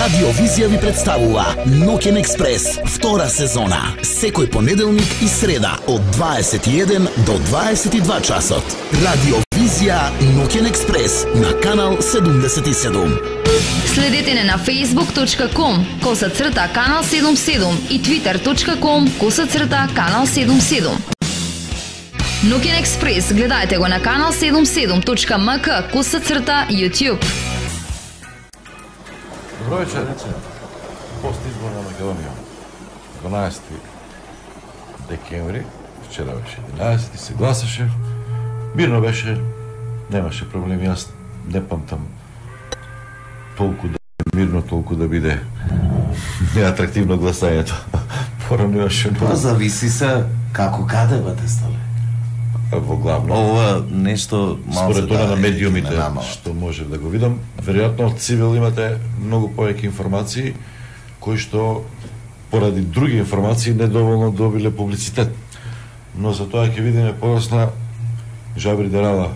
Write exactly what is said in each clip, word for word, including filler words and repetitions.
Радио Визија ви представува Ноќен експрес, втора сезона, секој понеделник и среда од дваесет и еден до дваесет и два часот. Радио Визија Ноќен експрес на канал седумдесет и седум. Следете не на facebook точка com коса црта канал седумдесет и седум и twitter точка com коса црта канал седумдесет и седум. Ноќен експрес гледајте го на канал седумдесет и седум точка ем ка коса црта YouTube. Добро вечер. Пост изборна Македонија. дванаесети декември, вчера беше единаесети, се гласаше. Мирно беше, немаше проблеми, јас не памтам толку да мирно, толку да биде неатрактивно гласањето. Порано имаше много. Па зависи се како каде бате стале. Во главно. Ова нешто малку според тоа на медиумите што може да го видам, веројатно од Цивил имате многу повеќе информации кои што поради други информации недоволно добиле публицитет. Но за тоа ќе видиме подоцна. Жабри Дерала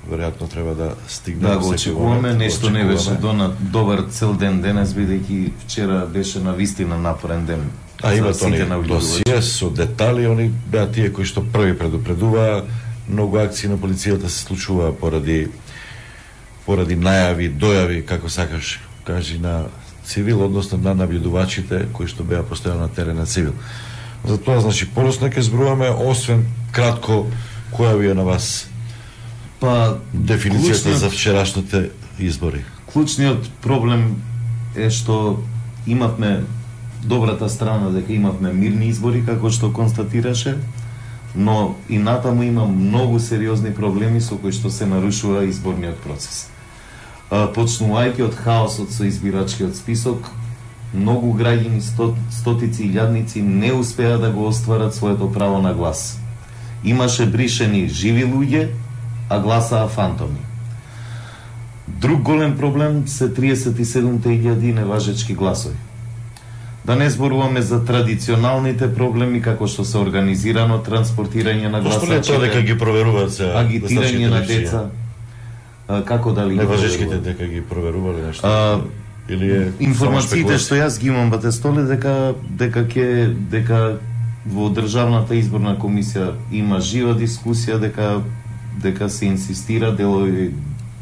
веројатно треба да стигне. Да го очекуваме, нешто не беше дона добар цел ден денес, бидејќи вчера беше навистина напорен ден. А има тони досие со детали, они беа тие кои што први предупредуваа, многу акции на полицијата се случува поради поради најави, дојави, како сакаш кажи, на Цивил, односно на наблюдувачите кои што беа постојано на терен на Цивил. Затоа, значи, подоцна ќе зборуваме, освен кратко, која ви е на вас па дефиницијата клучниот, за вчерашните избори? Клучниот проблем е што имавме добрата страна дека имавме мирни избори, како што констатираше, но и натаму има многу сериозни проблеми со кои што се нарушува изборниот процес. Почнувајќи од хаосот со избирачкиот список, многу граѓани, сто, стотици и илјадници не успеа да го остварат своето право на глас. Имаше бришени живи луѓе, а гласаа фантоми. Друг голем проблем се триесет и седумте илјади неважечки гласови. Да не зборуваме за традиционалните проблеми како што се организирано транспортирање на гласачите. Зошто не тоа дека ги проверуваат се агитирање на деца? А, како дали неважечките дека ги проверувале нешто? А, или е информациите што јас ги имам бате столе дека дека ќе дека во државната изборна комисија има жива дискусија, дека дека се инсистира делови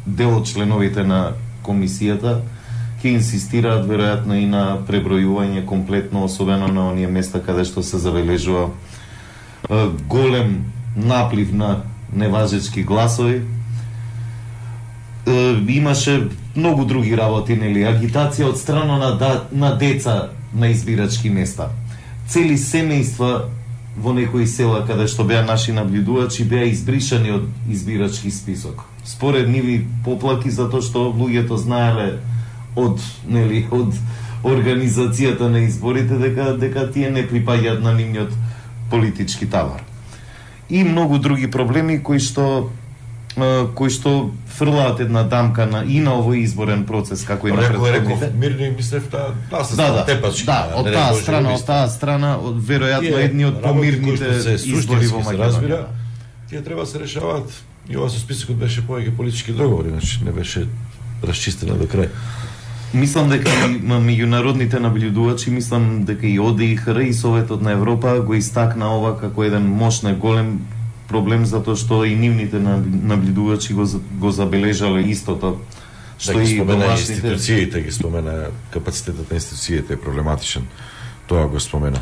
дел од членовите на комисијата ќе инсистираат веројатно и на пребројување комплетно, особено на оние места каде што се забележува е, голем наплив на неважечки гласови. Е, имаше многу други работи, нели, агитација од страна на, да, на деца на избирачки места. Цели семејства во некои села каде што беа наши наблюдувачи беа избришани од избирачки список. Според ниви поплаки затоа што луѓето знаеле од нели од организацијата на изборите дека дека тие не припаѓаат на нивниот политички тавар. И многу други проблеми кои што кои што фрлаат една дамка на и на овој изборен процес како и на предходните. Мирни мислев таа, да се да, да, тепачки. Да, од таа страна, од таа страна, од веројатно едни од помирните избори во Македонија. Тие треба да се решаваат. И ова со списокот беше повеќе политички договори, значи не беше расчистена до крај. Мислам дека и меѓународните наблюдувачи, мислам дека и О Д И Х Р и Советот на Европа го истакна ова како еден мощен голем проблем, затоа што и нивните наблюдувачи го, го забележале истото. Што да, и домашните институциите ги спомена, капацитетот на институциите е проблематичен. Тоа го спомена.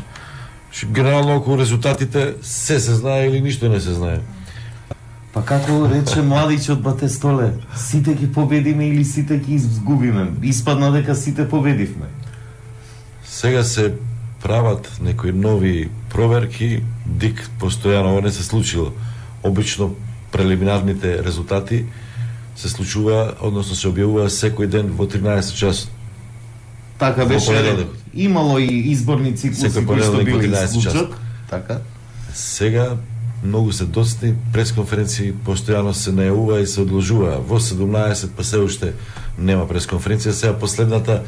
Генерално околу резултатите се се знае или ништо не се знае. Па како рече младичот бате столе, сите ги победиме или сите ги изгубиме. Испадна дека сите победивме. Сега се прават некои нови проверки, дик постојано ова не се случило. Обично прелиминарните резултати се случува, односно се објавува секој ден во тринаесет часот. Така беше, имало и изборни циклуси кои што били случат. Така. Сега многу се доцни пресконференции постојано се најавува и се одложува. Во седумнаесет па се уште нема пресконференција. Сега последната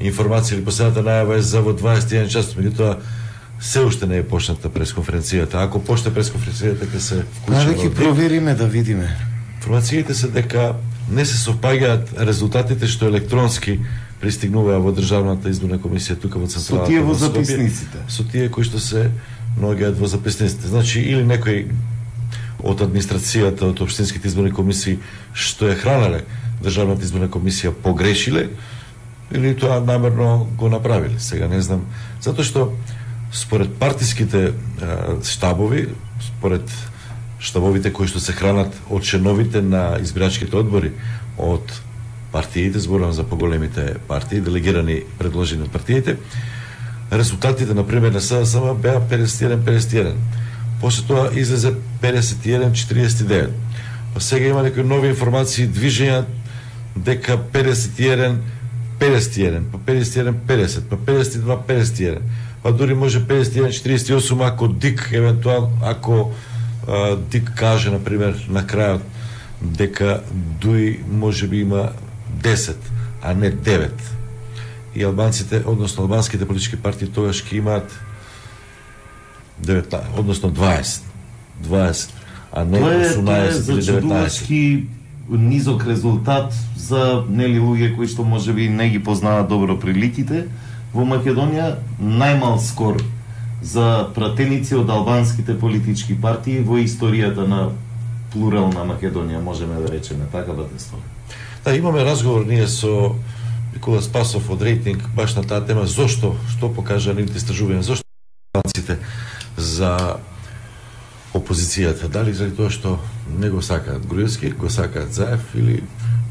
информација или последната најава е за во дваесет и еден час, меѓутоа се уште не е почната пресконференцијата. Ако почне пресконференцијата ќе се вклучи. Да ќе провериме да видиме. Информациите се дека не се совпагаат резултатите што електронски пристигнуваа во Државната изборна комисија тука во централата. Со тие во записниците. Со тие кои што се наоѓаат во записниците. Значи, или некој од администрацијата, од општинските изборни комисии што е хранале Државната изборна комисија погрешиле, или тоа намерно го направиле. Сега не знам, затоа што според партиските а, штабови, според штабовите кои што се хранат од членовите на избирачките одбори од партиите, зборувам за поголемите партии, делегирани предложени од партиите, резултатите на пример на СДСМ беа педесет и еден педесет и еден. После тоа излезе педесет и еден четириесет и девет. Па сега има некои нови информации, движења дека педесет и еден педесет и еден, па педесет и еден педесет, па педесет и два педесет и еден. Па дури може педесет и еден четириесет и осум ако ДИК евентуално ако а, ДИК каже на пример на крајот дека дуи може би има десет, а не девет. И албанците, односно албанските политички партии тогаш ќе имаат деветнаесет, односно дваесет. дваесет, а не осумнаесет или деветнаесет. Низок резултат за нели луѓе кои што можеби не ги познаат добро приликите во Македонија, најмал скор за пратеници од албанските политички партии во историјата на плурална Македонија, можеме да речеме, така батество. Да, имаме разговор ние со Никола Спасов од Рейтинг баш на таа тема, зошто, што покажа нивните истражувања, зошто албанците за опозицијата, дали заради тоа што не го сакаат Груевски, го сакаат Заев или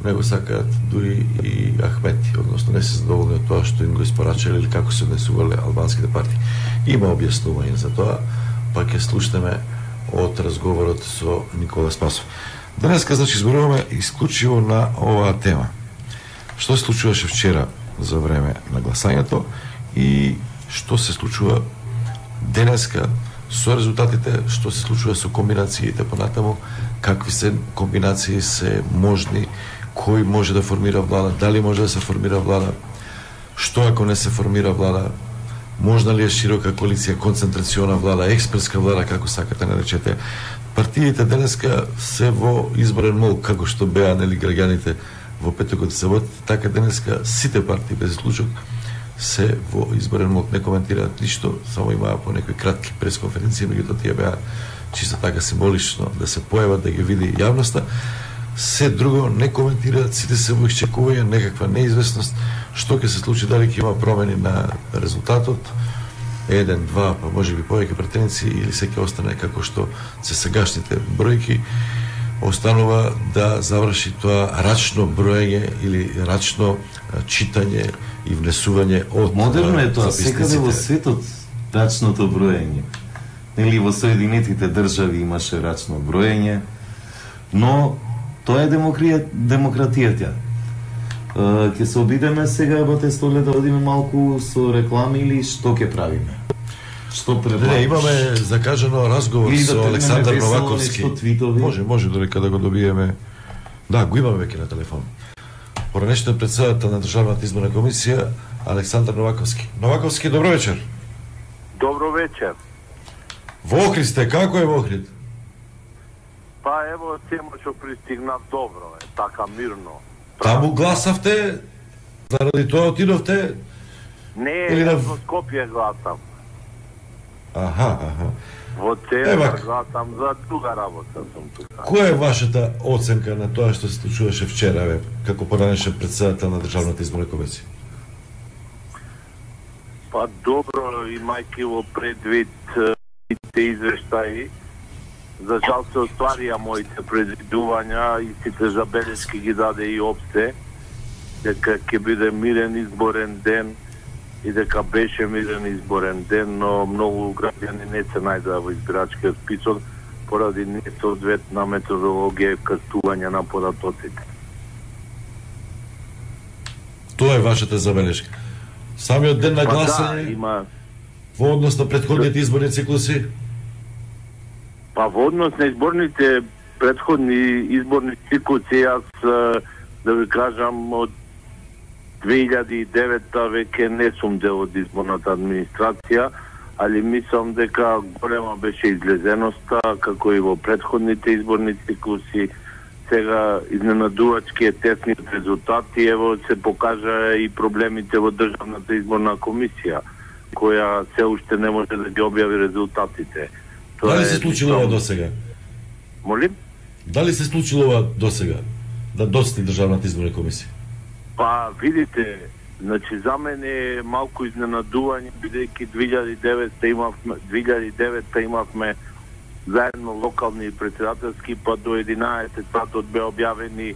не го сакаат дури и Ахмети, односно не се задоволни од тоа што им го испорачале или како се однесувале албанските партии. Има објаснување за тоа, па ќе слушнеме од разговорот со Никола Спасов. Денеска, значи, зборуваме исклучиво на оваа тема. Што се случуваше вчера за време на гласањето и што се случува денеска со резултатите, што се случува со комбинациите понатаму, какви се комбинации се можни, кој може да формира влада, дали може да се формира влада, што ако не се формира влада, можна ли е широка коалиција, концентрациона влада, експреска влада, како сакате наречете. Партиите денеска се во изборен мол, како што беа нели граѓаните во петокот и саботата, така денеска сите партии без исклучок се во изборен мол, не коментираат ништо, само имаа по некои кратки пресконференции, меѓутоа тие беа чисто така символично да се појават, да ги види јавноста. Се друго не коментираат, сите се во исчекување, некаква неизвестност, што ќе се случи, дали ќе има промени на резултатот, еден, два, па може би повеќе претенци, или се ќе остане како што се сегашните бројки, останува да заврши тоа рачно броење или рачно читање и внесување од модерно е тоа, секаде во светот рачното броење. Нели во Соединетите држави имаше рачно броење, но тоа е демократија, демократијата. Ќе се обидеме сега, бате Столе, да одиме малку со реклами или што ќе правиме? Што предлагаш? Не, имаме закажано разговор или со да Александар Новаковски. Може, може додека да го добиеме. Да, го имаме веќе на телефон. Поранешниот председател на Државната изборна комисија Александар Новаковски. Новаковски, добро вечер. Добро вечер. Во Охрид сте, како е во Охрид? Па ево тема што пристигнав добро е, така мирно. Таму гласавте, заради тоа отидовте? Не, или јас на... во Скопје гласам. Аха, аха. Во центар Ева, гласам, за друга работа сум тука. која е вашата оценка на тоа што се случуваше вчера, бе, како поранешен председател на Државната изборна комисија? Па добро, имајќи во предвид сите извештаи, за жал се остварија моите предвидувања и сите забелешки ги даде и опсте, дека ќе биде мирен изборен ден и дека беше мирен изборен ден, но многу граѓани не се најдоа во избирачкиот список поради несоодветна методологија и кастување на податоците. Тоа е вашата забелешка. Самиот ден на Па гласање, да, има... во однос на претходните изборни циклуси? Па во однос на изборните претходни изборни циклуси, јас да ви кажам од две илјади и девета веќе не сум дел од изборната администрација, али мислам дека голема беше излезеноста, како и во претходните изборни циклуси, сега изненадувачки е тесниот резултат и ево се покажа и проблемите во Државната изборна комисија, која се уште не може да ги објави резултатите. Тоа Дали се случило ова досега? Молим? Дали се случило ова досега? Да дости Државната изборна комисија? Па, видите, значи за мене е малку изненадување, бидејќи две илјади и девета имавме, две илјади и девета имавме заедно локални и председателски, па до единаесет сатот беа објавени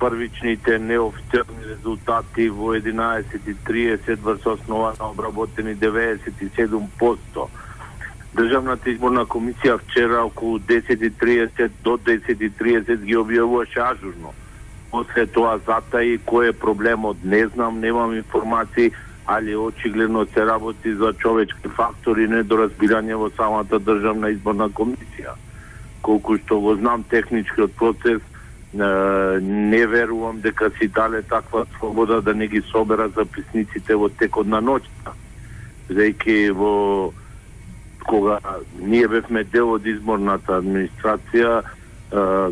првичните неофицијални резултати во единаесет и триесет врз основа на обработени деветдесет и седум проценти. Државната изборна комисија вчера околу десет и триесет до десет и триесет ги објавуваше ажурно. После тоа затаи кој е проблемот, не знам, немам информации, али очигледно се работи за човечки фактори и недоразбирање во самата Државна изборна комисија. Колку што го знам техничкиот процес, не верувам дека си дале таква слобода да не ги собера записниците во текот на ноќта. Бидејќи во кога ние бевме дел од изборната администрација,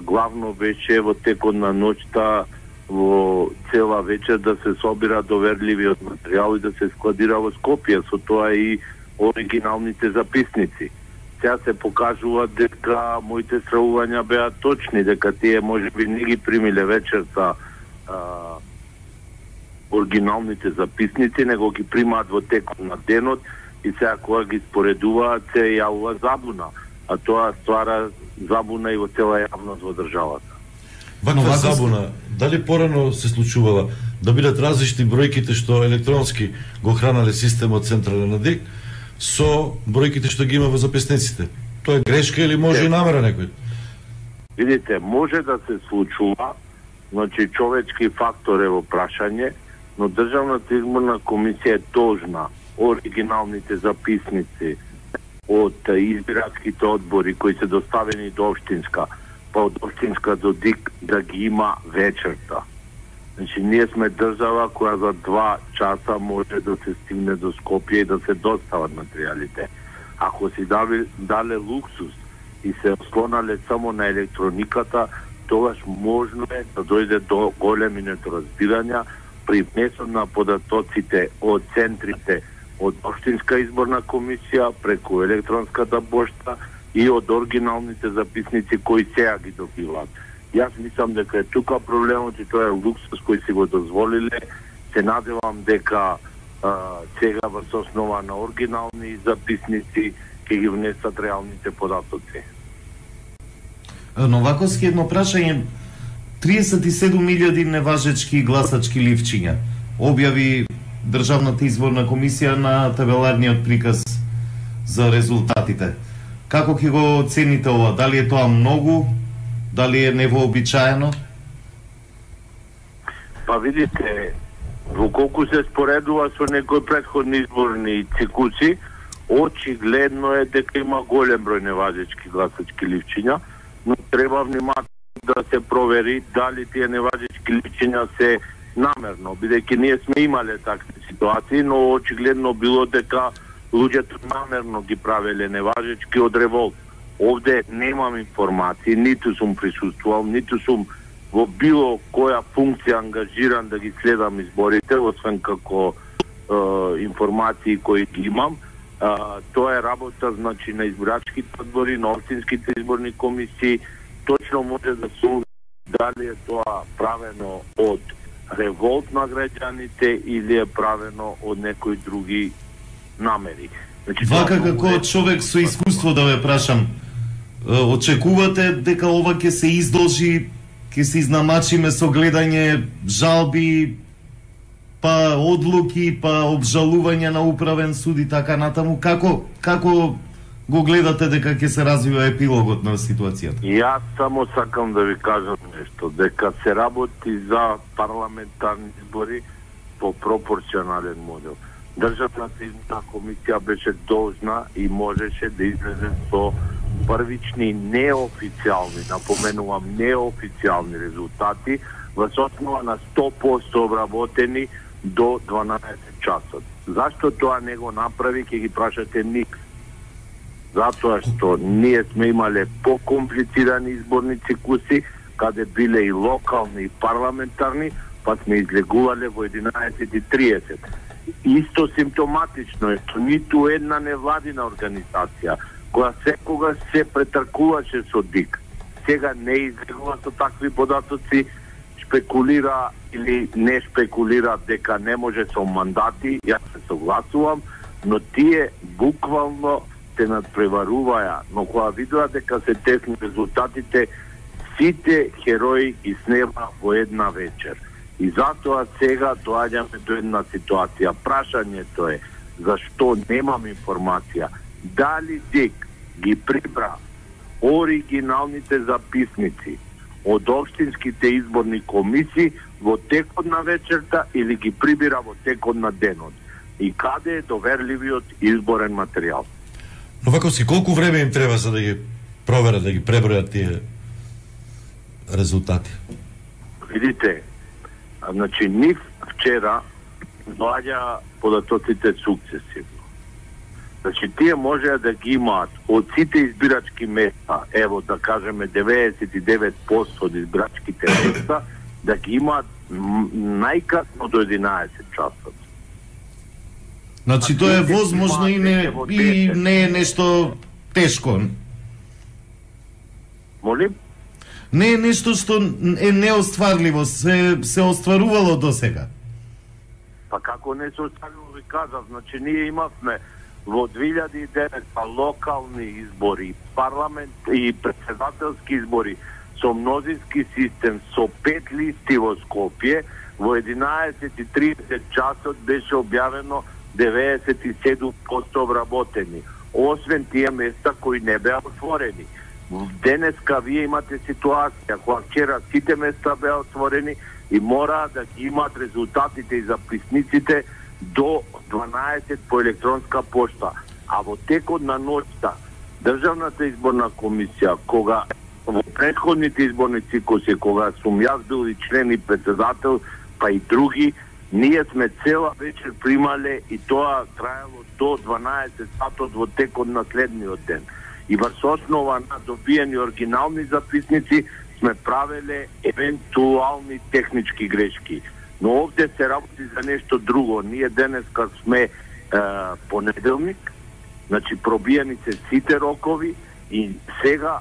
главно беше во текот на ноќта во цела вечер да се собира доверливиот материјал и да се складира во Скопје, со тоа и оригиналните записници. Сега се покажува дека моите стравувања беа точни, дека тие можеби не ги примиле вечерта а, оригиналните записници, него ги примаат во текот на денот и сега кога ги споредуваат се јавува забуна, а тоа ствара забуна и во цела јавност во државата. Ваква забуна, дали порано се случувала да бидат различни бројките што електронски го хранале системот централен на ДИК со бројките што ги има во записниците? Тоа е грешка или може и намера некој? Видите, може да се случува, значи човечки фактор е во прашање, но Државната изборна комисија е должна оригиналните записници од избирачките одбори кои се доставени до општинска, па од општинска до ДИК да ги има вечерта. Значи, ние сме држава која за два часа може да се стигне до Скопје и да се достават материјалите. Ако си дали, дале луксус и се ослонале само на електрониката, тогаш можно е да дојде до големи недоразбирања при внесот на податоците од центрите од општинска изборна комисија преку електронската пошта и од оригиналните записници кои сега ги добиваат. Јас мислам дека е тука проблемот и тоа е луксус кој си го дозволиле. Се надевам дека а, сега врз основа на оригинални записници ќе ги внесат реалните податоци. Новаковски, едно прашање. триесет и седум илјади неважечки гласачки ливчиња објави Државната изборна комисија на табеларниот приказ за резултатите. Како ќе го оцените ова? Дали е тоа многу? Дали е невообичаено? Па видите, во колку се споредува со некои претходни изборни цикуси, очигледно е дека има голем број неважечки гласачки ливчиња, но треба внимателно да се провери дали тие неважечки ливчиња се намерно, бидејќи ние сме имале такви ситуации, но очигледно било дека луѓето намерно ги правеле неважечки од револт. Овде немам информации, ниту сум присуствувал, ниту сум во било која функција ангажиран да ги следам изборите, освен како е, информации кои ги имам. Е, тоа е работа, значи, на избирачките одбори, на општинските изборни комисии. Точно може да се уви дали е тоа правено од револт на граѓаните или е правено од некои други намери. Значи, Вака како е... човек со искуство да ве прашам, очекувате дека ова ќе се издолжи, ќе се изнамачиме со гледање жалби, па одлуки, па обжалување на управен суд и така натаму? Како, како го гледате дека ќе се развива епилогот на ситуацијата? Јас само сакам да ви кажам нешто, дека се работи за парламентарни избори по пропорционален модел. Државната изборна комисија беше должна и можеше да излезе со првични неофицијални, напоменувам неофицијални резултати во основа на сто проценти обработени до дванаесет часот. Зашто тоа не го направи, ќе ги прашате ник. Затоа што ние сме имале покомплицирани изборни цикуси, каде биле и локални и парламентарни, па сме излегувале во единаесет и триесет. Исто симптоматично е што ниту една невладина организација која секогаш се претркуваше со ДИК, сега не излегува со такви податоци, спекулира или не спекулира дека не може со мандати, јас се согласувам, но тие буквално се надпреваруваја, но кога видува дека се тесни резултатите, сите херои ги снема во една вечер. И затоа сега доаѓаме до една ситуација. Прашањето е зашто немам информација дали ДИК ги прибра оригиналните записници од општинските изборни комисии во текот на вечерта или ги прибира во текот на денот. И каде е доверливиот изборен материјал? Новаковски, колку време им треба за да ги проверат, да ги пребројат тие резултати? Видите, значи нив вчера доаѓа податоците сукцесивно. Значи тие можеа да ги имаат од сите избирачки места, ево да кажеме деветдесет и девет проценти од избирачките места, да ги имаат најкасно до единаесет часот. Значи тоа е возможно и не, и не е нешто тешко. Молим? Не е нешто што е неостварливо, се, се остварувало до сега. Па како не се остварило, ви кажав, значи ние имавме во две илјади и девета локални избори, парламент и претседателски избори со мнозински систем, со пет листи во Скопје, во единаесет и тридесет часот беше објавено деветдесет и седум проценти обработени, освен тие места кои не беа отворени. Денеска вие имате ситуација која вчера сите места беа отворени и мора да ги имаат резултатите и записниците до дванаесет по електронска пошта. А во текот на ноќта Државната изборна комисија, кога во претходните изборни цикуси, кога сум јас бил и член и председател, па и други, ние сме цела вечер примале и тоа траело до дванаесет сатот во текот на следниот ден. И врз основа на добиени оригинални записници сме правеле евентуални технички грешки. Но овде се работи за нешто друго. Ние денеска сме е, понеделник, значи пробиени се сите рокови и сега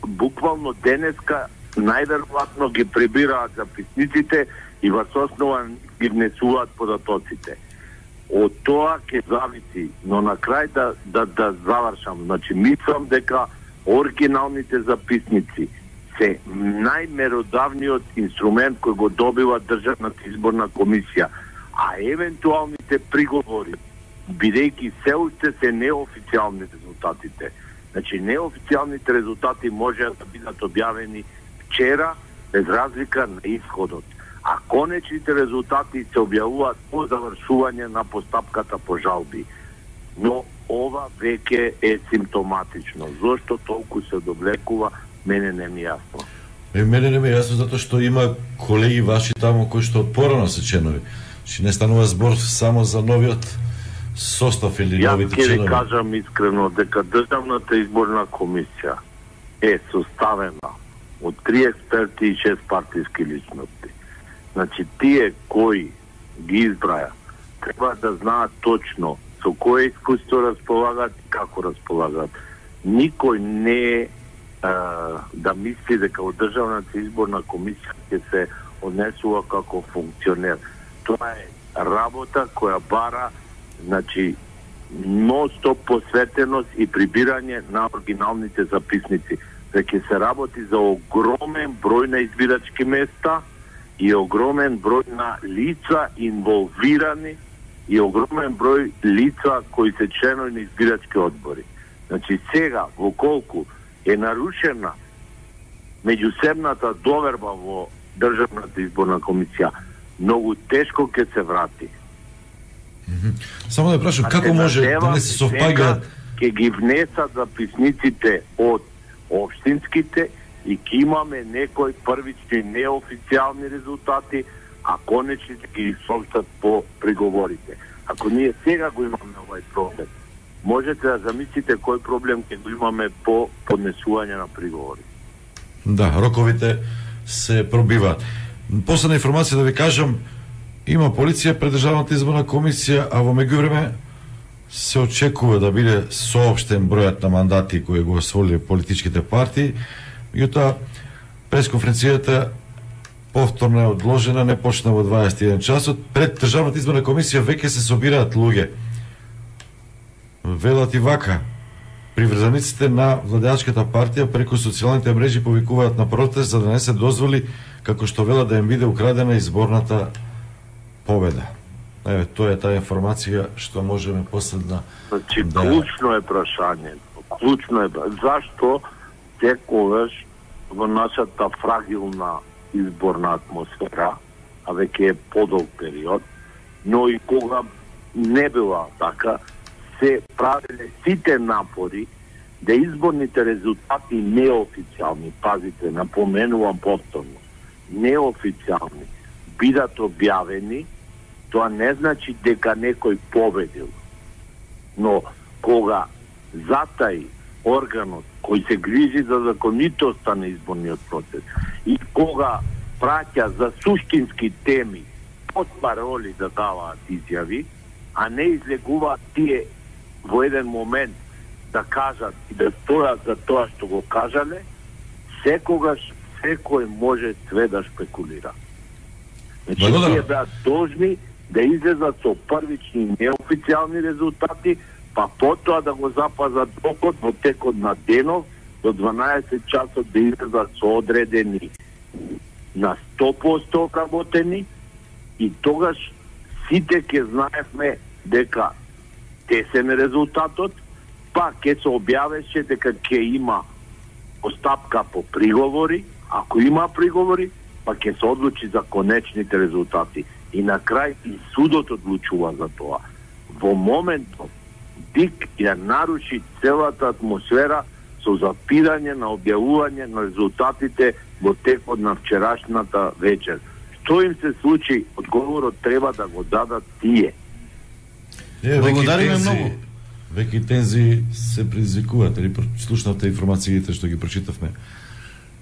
буквално денеска најверојатно ги прибираат записниците и врз основа ги внесуваат податоците. Од тоа ќе зависи, но на крај да, да, да завршам. Значи, мислам дека оригиналните записници се најмеродавниот инструмент кој го добива Државната изборна комисија, а евентуалните приговори, бидејќи се уште се неофицијални резултатите. Значи, неофицијалните резултати можеа да бидат објавени вчера, без разлика на исходот. А конечните резултати се објавуваат по завршување на постапката по жалби. Но ова веќе е симптоматично. Зошто толку се довлекува, мене не ми јасно. Е, мене не ми јасно затоа што има колеги ваши таму кои што порано се членови. Че не станува збор само за новиот состав или Јас новите ќе ви членови. кажам искрено дека Државната изборна комисија е составена од три експерти и шест партиски личности. Значи, тие кои ги избраја треба да знаат точно со кое искуство располагаат и како располагаат. Никој не е да мисли дека од Државната изборна комисија ќе се однесува како функционер. Тоа е работа која бара, значи, нон-стоп посветеност и прибирање на оригиналните записници. Дека се работи за огромен број на избирачки места и огромен број на лица инволвирани и огромен број лица кои се членови на избирачки одбори. Значи сега, во колку е нарушена меѓусебната доверба во Државната изборна комисија, многу тешко ќе се врати. Mm-hmm. Само да прашам, како може да не се совпаѓаат? Ќе ги внесат записниците од општинските и ќе имаме некои првични неофицијални резултати, а конечните ги сообштат по приговорите. Ако ние сега го имаме овај проблем, можете да замислите кој проблем ќе го имаме по поднесување на приговори. Да, роковите се пробиваат. Последна информација да ви кажам, има полиција пред Државната изборна комисија, а во меѓувреме се очекува да биде соопштен бројот на мандати кои го освоиле политичките партии. Меѓутоа, пресконференцијата повторно е одложена, не почна во дваесет и еден часот. Пред Државната изборна комисија веќе се собираат луѓе. Велат и вака: приврзаниците на владеачката партија преку социјалните мрежи повикуваат на протест за да не се дозволи, како што велат, да им биде украдена изборната победа. Еве, тоа е таа информација што можеме последна. Значи, да... клучно е прашањето. Клучно е зашто секогаш во нашата фрагилна изборна атмосфера, а веќе е подолг период, но и кога не била така, се правиле сите напори да изборните резултати неофицијални, пазите, напоменувам повторно, неофицијални, бидат објавени. Тоа не значи дека некој победил. Но кога затаи органот кој се грижи за законитоста на изборниот процес и кога праќа за суштински теми под пароли да даваат изјави, а не излегуваат тие во еден момент да кажат и да стојат за тоа што го кажале, секогаш секој може све да шпекулира. Значи, тие беа должни да излезат со првични неофицијални резултати, па потоа да го запазат рокот во текот на денов до дванаесет часот да излезат со одредени на сто проценти обработени, и тогаш сите ќе знаевме дека тесен е резултатот, па ќе се објавеше дека ќе има постапка по приговори, ако има приговори, па ќе се одлучи за конечните резултати. И на крај и судот одлучува за тоа. Во моментот Дик ја наруши целата атмосфера со запирање на објавување на резултатите во текот на вчерашната вечер. Што им се случи, одговорот треба да го дадат тие. Е, Благодариме многу. Веќе тензи се предизвикуваат, или слушнавте информациите што ги прочитавме.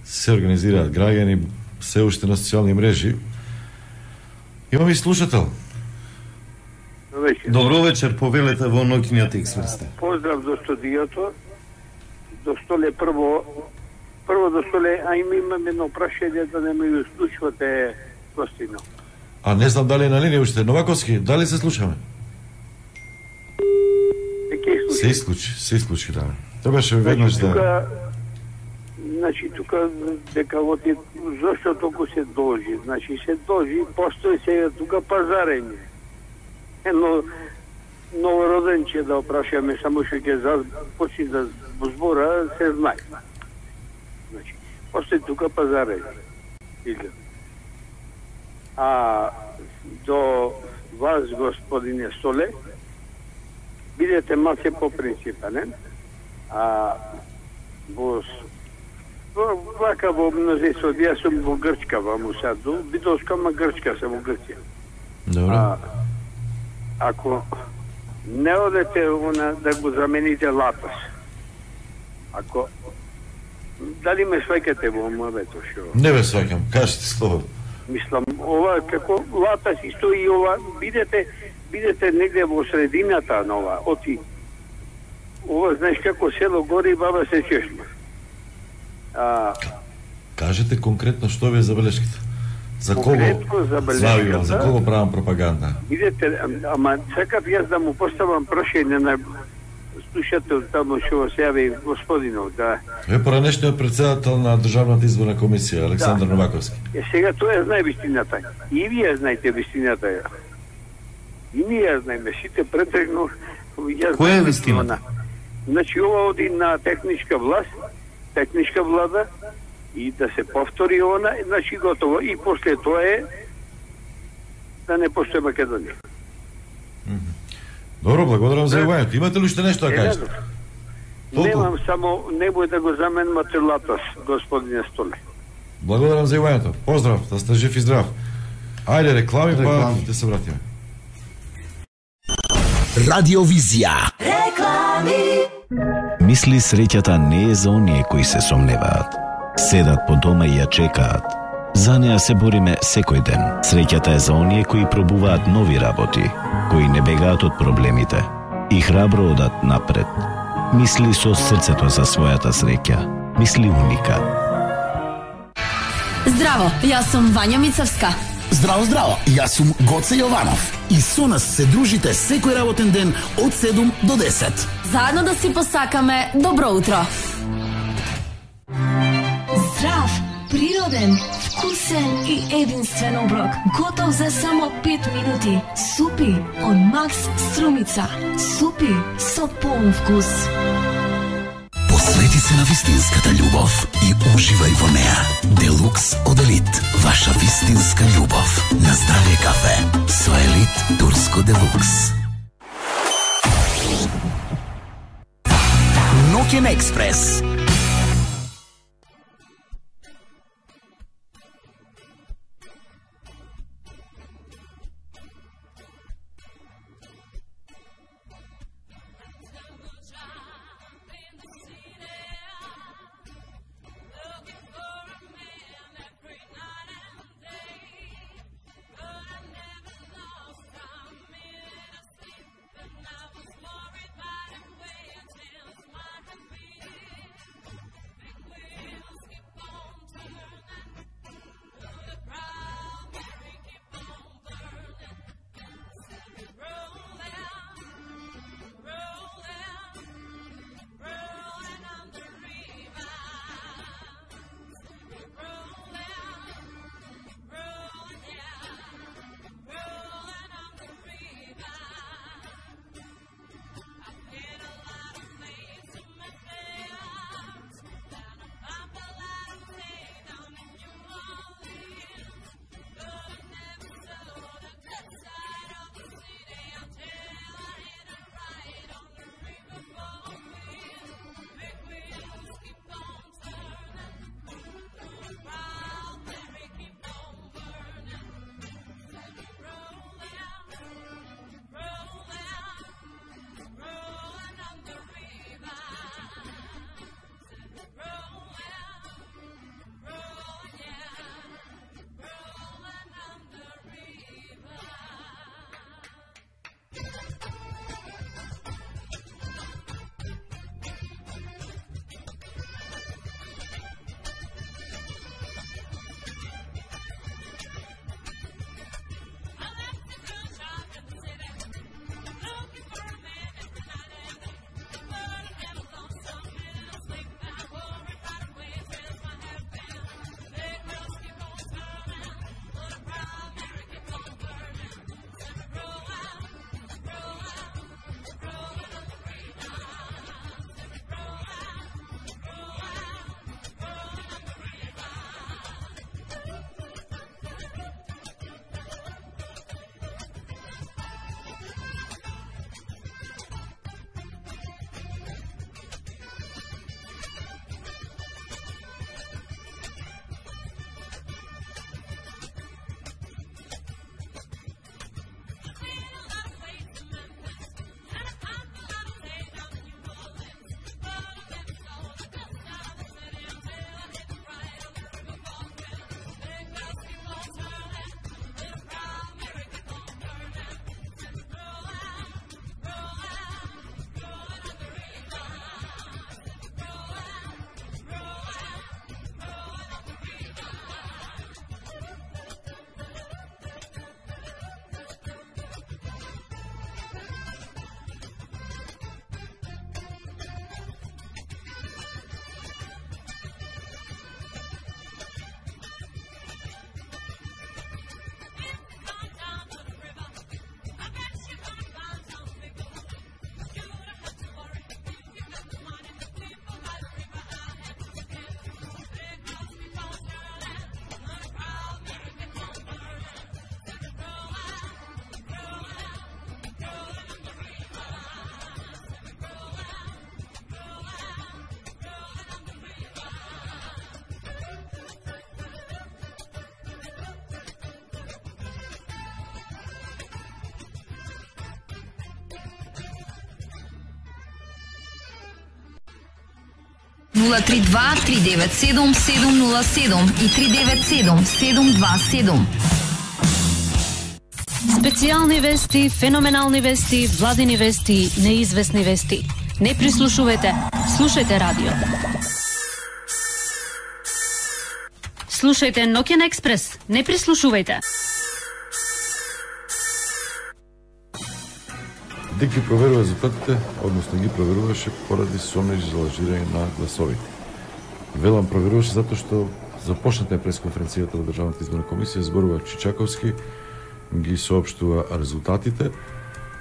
Се организираат граѓани, се уште на социјални мрежи. Имаме и слушател. Вечер. Добро вечер, повелете во ноќниот експрес. Поздрав до студиото. До столе прво, прво до столе, а им имам едно прашање да не ме слушвате, гостино. А не знам дали е на линија уште. Новаковски, дали се слушаме? Се исклучи, се исклучи, да. Требаше веднаш да... Тука, значи, тука, дека во ти, зашто толку се должи? Значи, се должи, постои сега тука пазарење. Едно новороденче да опрашаме, само што ќе почне да збора, се знае. Значи, постои тука пазарење. А до вас, господине Столе, бидете малце по принципанен, а во вака во мнозинство, јас сум во Грчка, во Мусаду, бидовска, ма Грчка сум во Грција. Добро. А, ако не одете она да го замените Латас, ако дали ме сваќате во мовето шо? Не ве сваќам, кажете слободно. Мислам, ова како Латас исто и ова, бидете бидете негде во средината на ова, оти. Ова, знаеш како село гори, баба се чешма. А, Кажете конкретно што ви е забелешката. За кого завивам, за кого правам пропаганда? Видете, ама сакав јас да му поставам прашање на слушател тамо што се јави господинов, да. Ве поранешниот председател на Државната изборна комисија, Александар да. Новаковски. Е, сега тоа знае вистината. И вие знаете вистината. И ние знаеме, сите претрегно. Која е вистината? Значи, ова оди на техничка власт, техничка влада, и да се повтори она, значи готово. И после тоа е да не постои Македонија. Добро, благодарам за јавањето. Имате ли уште нешто да кажете? Немам, само немој да го заменувате Латас, господине Столе. Благодарам за јавањето. Поздрав, да сте жив и здрав. Ајде реклами, па да се вратиме. Радиовизија. Реклами. Мисли среќата не е за оние кои се сомневаат. Седат по дома и ја чекаат. За неа се бориме секој ден. Среќата е за оние кои пробуваат нови работи, кои не бегаат од проблемите и храбро одат напред. Мисли со срцето за својата среќа. Мисли уника. Здраво, јас сум Вања Мицевска. Здраво, здраво, јас сум Гоце Јованов. И со нас се дружите секој работен ден од седум до десет. Заедно да си посакаме добро утро. Здрав, природен, вкусен и единствен оброк. Готов за само пет минути. Супи од Макс Струмица. Супи со полн вкус. Посвети се на вистинската љубов и уживај во неа. Делукс од Елит. Ваша вистинска љубов. На здравје кафе. Со Елит Турско Делукс. Ноќен експрес. нула три два три девет седум седум нула седум и три девет седум седум два седум. Специјални вести, феноменални вести, владини вести, неизвестни вести. Не прислушувате, слушајте радио. Слушајте Ноќен експрес, не прислушувајте. Дик ги проверува резултатите, односно ги проверуваше поради сомнеж за лажирање на гласовите. Велам проверуваше затоа што започната пресконференцијата на Државната изборна комисија, зборува Чичаковски, ги соопштува резултатите.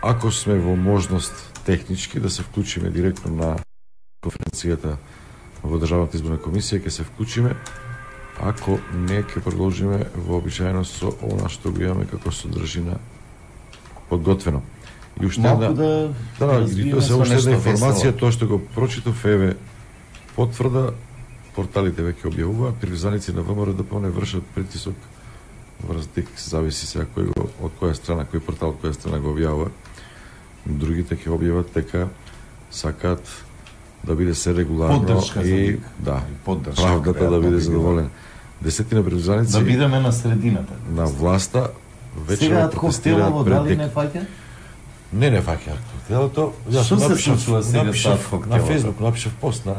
Ако сме во можност технички да се вклучиме директно на конференцијата во Државната изборна комисија, ќе се вклучиме. Ако не, ќе продолжиме вообичаено со она што го имаме како содржина подготвено. И уште една, да, да, да, и тоа се уште една информација, тоа што го прочитав, еве потврда, порталите веќе објавуваат, приврзаници на ВМРО д п н вршат притисок врз ДИК, зависи сега кој го, од која страна, кој портал, од која страна го објавува. Другите ќе објават дека сакаат да биде се регуларно поддршка и да, поддршка, правдата да биде задоволена. Десетина приврзаници да бидеме на средината на власта вече сега протестираат пред дали не фаќа? Не, не фаќа коктелото. Што се случува сега напишав на Фејсбук, напишав пост на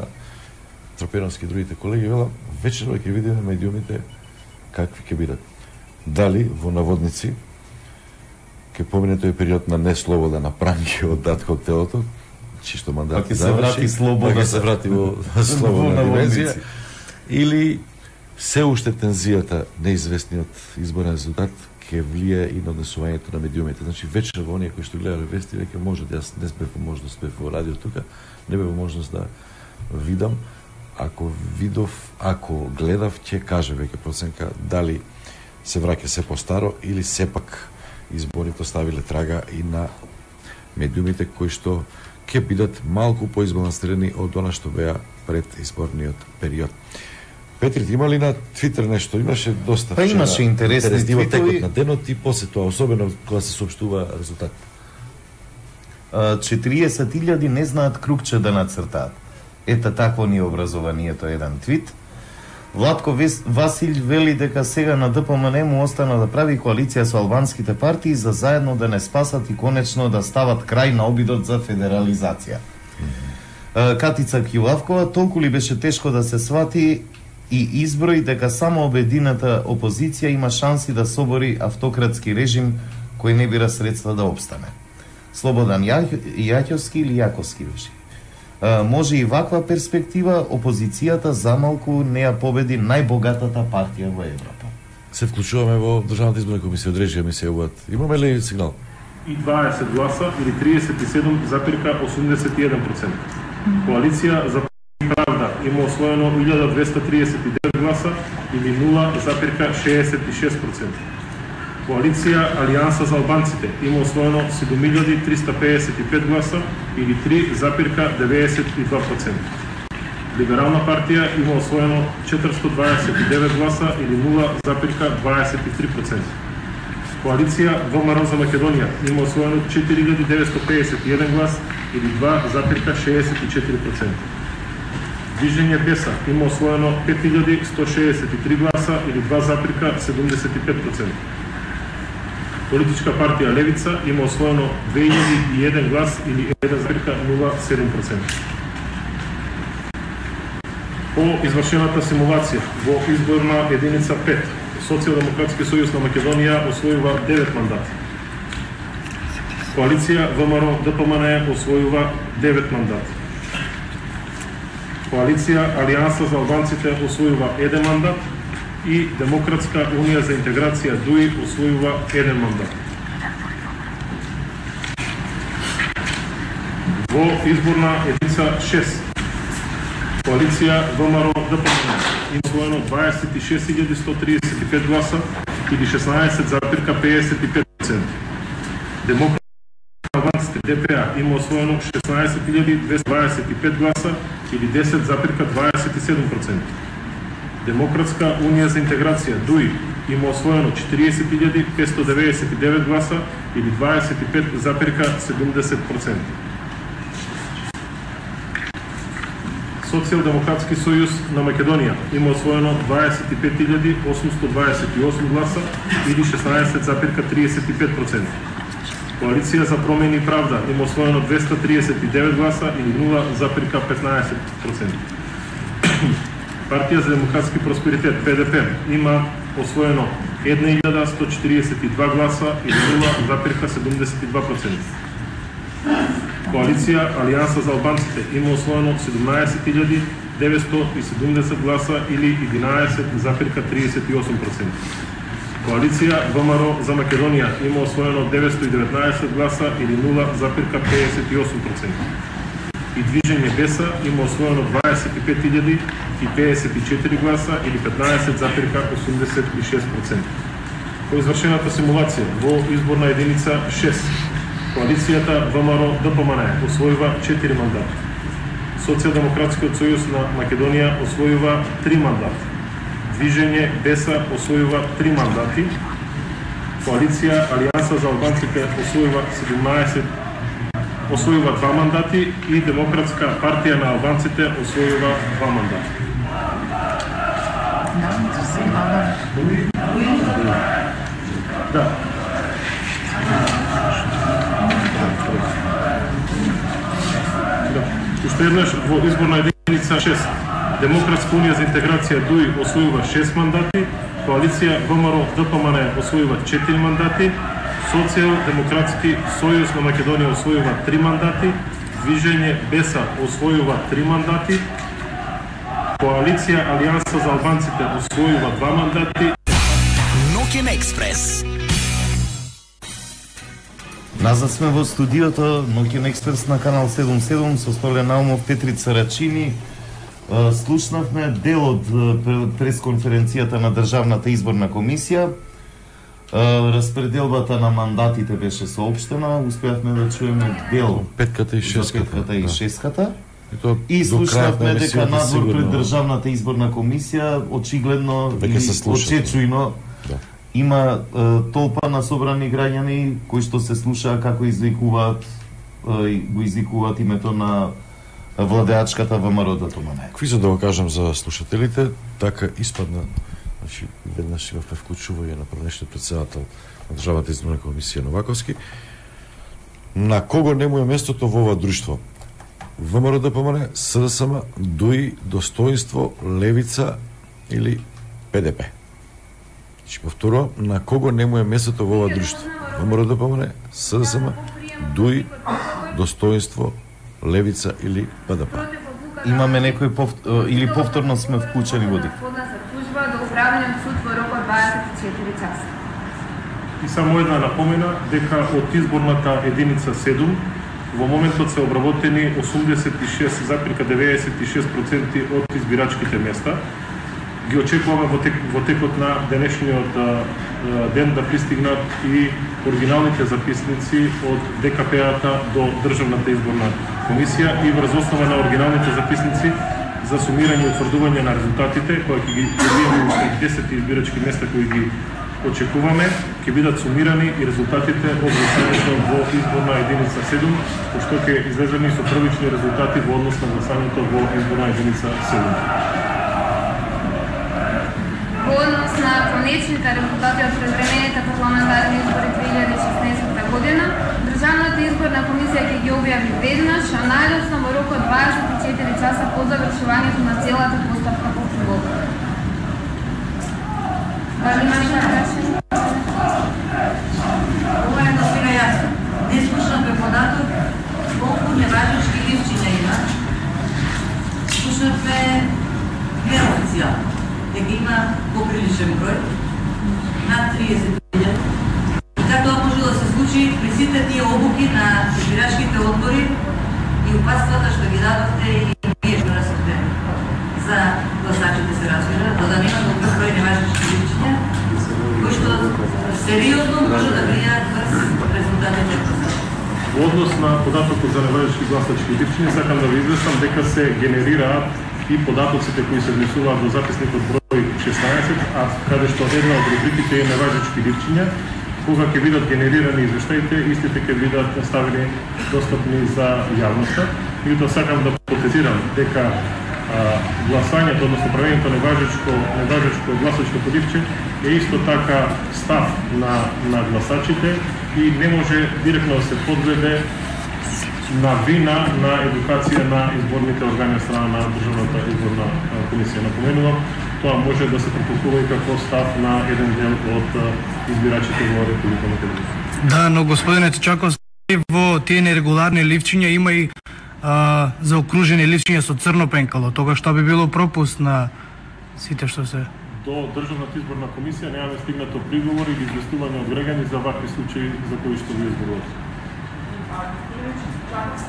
Тропеновски и другите колеги, велам, вечерва ќе видиме медиумите какви ќе бидат. Дали во наводници ќе помине тој период на неслобода, на пранги од дат коктелото, чисто мандат ќе се врати слобода, ќе се врати во слободна димензија, или се уште тензијата, неизвестниот изборен резултат ќе влие и на однесувањето на медиумите. Значи вечер во оние кои што гледаат вести веќе може да јас не бев во можност бев во радио тука, не бев во можност да видам. Ако видов, ако гледав, ќе каже веќе проценка дали се враќа се постаро или сепак изборите оставиле трага и на медиумите кои што ќе бидат малку поизбалансирани од она што беа пред изборниот период. Петри, има ли на Твитер нешто? Имаше доста па имаше интересни твитови на денот и после тоа, особено кога се соопштува резултат. четириесет илјади не знаат кругче да нацртаат. Ета такво ни е образованието, еден твит. Владко Васил вели дека сега на Д П М Н му остана да прави коалиција со албанските партии за заедно да не спасат и конечно да стават крај на обидот за федерализација. Mm-hmm. Катица Килавкова, толку ли беше тешко да се свати и изброи дека само обедината опозиција има шанси да собори автократски режим кој не бира средства да опстане. Слободан Јаќовски или Јаковски беше. Може и ваква перспектива, опозицијата замалку не ја победи најбогатата партија во Европа. Се вклучуваме во Државната изборна комисија, од режија ми се јавуваат. Имаме ли сигнал? И дваесет гласа или триесет и седум запирка осумдесет и еден проценти. Коалиција за правда има освоено илјада двеста триесет и девет гласа или нула запирка шеесет и шест проценти. Коалиција Алијанса за албанците има освоено седум илјади триста пеесет и пет гласа или три запирка деветдесет и два проценти. Либерална партија има освоено четиристотини дваесет и девет гласа или нула запирка дваесет и три проценти. Коалиција ВМРО за Македонија има освоено четири илјади деветстотини пеесет и еден глас или два запирка шеесет и четири проценти. Движење Беса има освоено пет илјади сто шеесет и три гласа или два запирка седумдесет и пет проценти. Политичка партија Левица има освоено две илјади и еден глас или еден запирка нула седум проценти. По извршената симулација во изборна единица пет, Социјалдемократски сојуз на Македонија освојува девет мандати. Коалиција ВМРО Д П М Н освојува девет мандати. Коалиција Алијанса за албанците освојува еден мандат и Демократска унија за интеграција Д У И освојува еден мандат. Во изборна единица шест, коалиција ВМРО Д П М Н има освоено дваесет и шест илјади сто триесет и пет гласа или шеснаесет запирка пеесет и пет проценти. Демократска албанците Д П А има освоено шеснаесет илјади двеста дваесет и пет гласа или десет запирка дваесет и седум проценти. Демократска унија за интеграција Д У И има освоено четириесет илјади петстотини деветдесет и девет гласа или дваесет и пет запирка седумдесет проценти. Социјалдемократски сојуз на Македонија има освоено дваесет и пет илјади осумсто дваесет и осум гласа или шеснаесет запирка тридесет и пет проценти. Коалиција за промени и правда има освоено двеста триесет и девет гласа или нула запирка петнаесет проценти. Партија за демократски просперитет Пе Де Пе има освоено една илјада сто четириесет и два гласа или нула запирка седумдесет и два проценти. Коалиција Алијанса за албанците има освоено седумнаесет илјади деветсто и седумдесет гласа или единаесет запирка тридесет и осум проценти. Коалиција Вэ Ем Ар О за Македонија има освоено деветсто и деветнаесет гласа или нула запирка педесет и осум проценти. И Движење Беса има освоено дваесет и пет илјади и педесет и четири гласа или петнаесет запирка осумдесет и шест проценти. По извршената симулација во изборна единица шест, коалицијата Вэ Ем Ар О Де Пе Ем Ен освојува четири мандати. Социјалдемократскиот сојуз на Македонија освојува три мандати. Движење Беса освојува три мандати. Коалиција Алијанса за албанците освојува седумнаесет освојува два мандати и Демократска партија на албанците освојува два мандати. Да. Уште еднаш во изборна единица шест, Демократска унија за интеграција ДУИ освојува шест мандати, коалиција Вэ Ем Ар О Де Пе Ем Ен освојува четири мандати, Социјалдемократски сојуз на Македонија освојува три мандати, Движење Беса освојува три мандати, коалиција Алијанса за албанците освојува два мандати. Ноќен експрес. Назад сме во студиото Ноќен експрес на канал седумдесет и седум со Столе Наумов, Петрица Рачини. Слушнавме дел од пресконференцијата на Државната изборна комисија. Распределбата на мандатите беше соопштена, успеавме да чуеме дел петката и шестката. Петката и шестката. Да. И слушнавме дека надвор пред Државната изборна комисија очигледно и очечујно да. Има е, толпа на собрани граѓани кои што се слушаа како извикуваат е, го извикуваат името на владеачката Вэ Ем Ар О Де Пе Ем Ен. Какви за да го кажам за слушателите, така испадна, значи веднаш имавме вклучување на првнешниот председател на Државната изборна комисија Новаковски. На кого не му е местото во ова друштво? Вэ Ем Ар О Де Пе Ем Ен, С Д С М, ДУИ, Достоинство, Левица или Пе Де Пе. Значи повторувам, на кого не му е местото во ова друштво? Вэ Ем Ар О Де Пе Ем Ен, С Д С М, ДУИ, Достоинство, Левица или Пе Де Пе. Имаме некој повт... или повторно сме вклучени во дик. Тужба до управениот суд во рок од дваесет и четири часа. И само една напомена дека од изборната единица седум во моментот се обработени осумдесет и шест запирка деветдесет и шест проценти од избирачките места. Ги очекуваме во, тек, во текот на денешниот ден да пристигнат и оригиналните записници од Де Ка Пе-ата до Државната изборна комисија и врз основа на оригиналните записници за сумирање и утврдување на резултатите, кои ќе ги добиеме уште десет избирачки места кои ги очекуваме, ќе бидат сумирани и резултатите од гласањето во изборна единица седум, што ќе излезени со првични резултати во однос на гласањето во изборна единица седум. Во однос на конечните резултати од превремените парламентарни избори две илјади и шеснаесетта година, Државната изборна комисија ќе ги објави веднаш, а најдоцна во рок од дваесет и четири часа по завршувањето на целата постапка по приготовка. Дали има нека прашање? Ова е насвина јасно. Не слушнавме податок колку неважнички ливчиња има. Слушнавме неофицијално дека има поприличен број, над триесет илјади. И како тоа може да се случи при сите тие обуки на избирачките одбори и упатствата што ги дадовте и вие што расовте за гласачите се разбира, да да нема толку број неважнички ливчиња, кои што сериозно може да влијаат врз резултатите. Во однос на податокот за неважнички гласачки ливчиња, сакам да ви известам дека се генерираат и податоците кои се внесуваат во записникот број шеснаесет, а каде што една од рубриките е неважнички ливчиња, кога ќе бидат генерирани извештаите, истите ќе бидат ставени достапни за јавноста. Меѓутоа сакам да потенцирам дека а, гласањето, односно правењето на важечко, неважечко гласачко подивче е исто така став на, на гласачите и не може директно да се подведе на вина на едукација на изборните органи од страна на Државната изборна комисија. Напоменувам, тоа може да се протоколува и како став на еден дел од избирачите во Република Македонија. Да, но господине Чаковски, во тие нерегуларни ливчиња има и а, заокружени ливчиња со црно пенкало. Тога што би било пропуст на сите што се... До Државната изборна комисија немаме стигнато приговор или известување од граѓани за вакви случаи за кои што ви изборувате.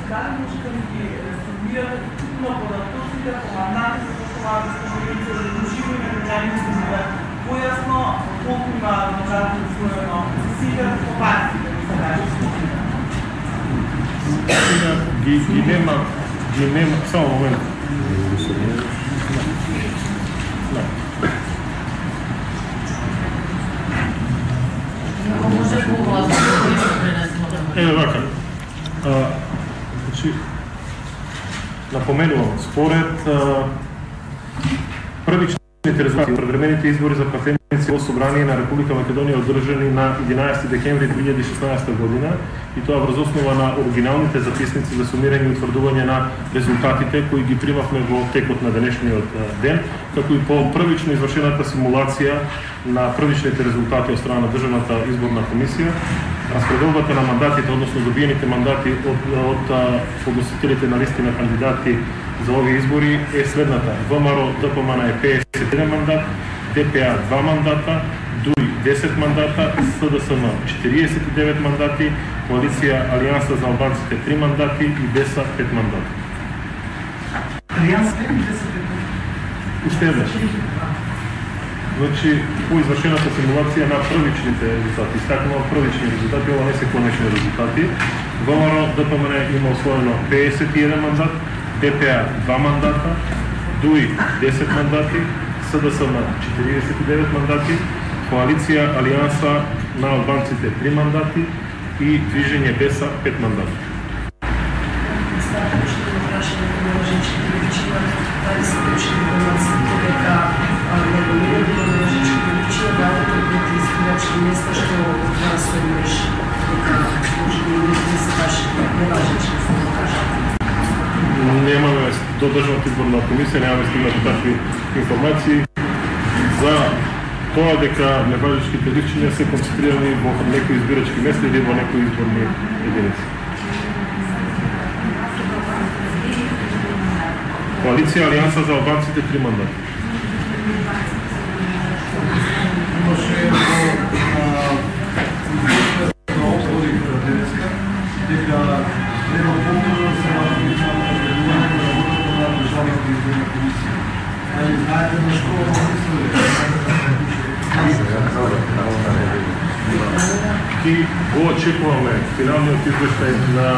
Дали може да ги сумирате типно податоците, командати за тоа да сте били задълживо и граѓаните за да појасно колку има можати усвоено сите по партиите, да се каже. Ги, ги нема, ги нема, само момент. Еве вака. Значи, напоменувам, според првичните резултати од превремените избори за пратеници во Собрание на Република Македонија одржани на единаесети декември две илјади и шеснаесета година и тоа врз основа на оригиналните записници за сумирање и утврдување на резултатите кои ги примавме во текот на денешниот ден, како и по првично извршената симулација на првичните резултати од страна на Државната изборна комисија, распределбата на мандатите, односно добиените мандати од, од подносителите на листи на кандидати за овие избори е следната. ВМРО ДПМН е педесет и еден мандат, ДПА два мандата, ДУИ десет мандата, СДСМ четириесет и девет мандати, Коалиција Алијанса за албанците три мандати и БЕСА пет мандати. Алијанса десет Уште еднаш. Значи, по извршената симулација на првичните резултати, истакнува првични резултати, ова не се конечни резултати. ВМРО ДПМН има освоено педесет и еден мандат, ДПА два мандата, ДУИ десет мандати, СДСМ четириесет и девет мандати, Коалиција Алијанса на албанците три мандати и Движење БЕСА пет мандати. Немаме до Државната изборна комисија, немаме стигнати такви информации за тоа дека неважечките ливчиња се концентрирани во некои избирачки места или во некои изборни единици. Коалиција Алијанса за албанците три мандати. И го очекуваме финалниот извештај на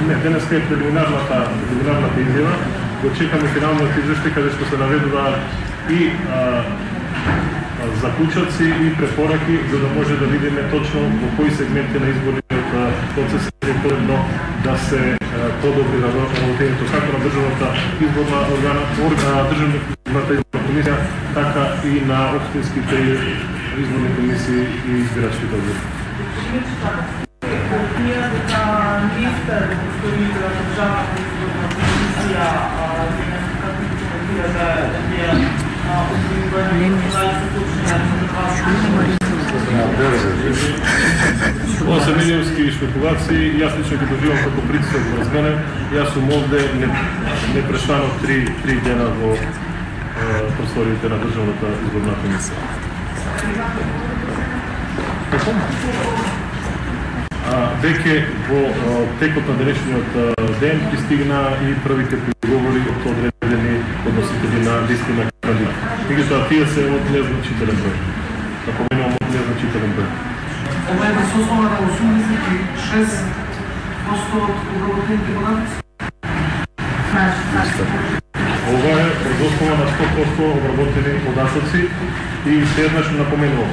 не, денеска е прелиминарната прелиминарната изјава, го чекаме финалниот извештај каде што се наведуваат и а, а, заклучоци и препораки за да може да видиме точно во кои сегменти на изборниот процес е потребно да се подобри работењето како на Државната изборна органа, Државната изборна комисија, така и на општинските изборни комисии и избирачките одбори. Ние дека листа представителите на Државната изборна комисија како да ја Ова се медиумски шпекулации, јас лично ги доживам како притисок врз мене. Јас сум овде непрестанно три, три дена во е, просториите на Државната изборна комисија. Веќе во текот на денешниот ден пристигна и првите приговори од одредени подносители на листи на кандидати. Меѓутоа тие се од незначителен број. Напоменувам од незначителен број. Ова е со основа на осумдесет и шест проценти од обработените податоци? Ова е од основа на сто проценти обработени податоци и се еднаш напоменувам.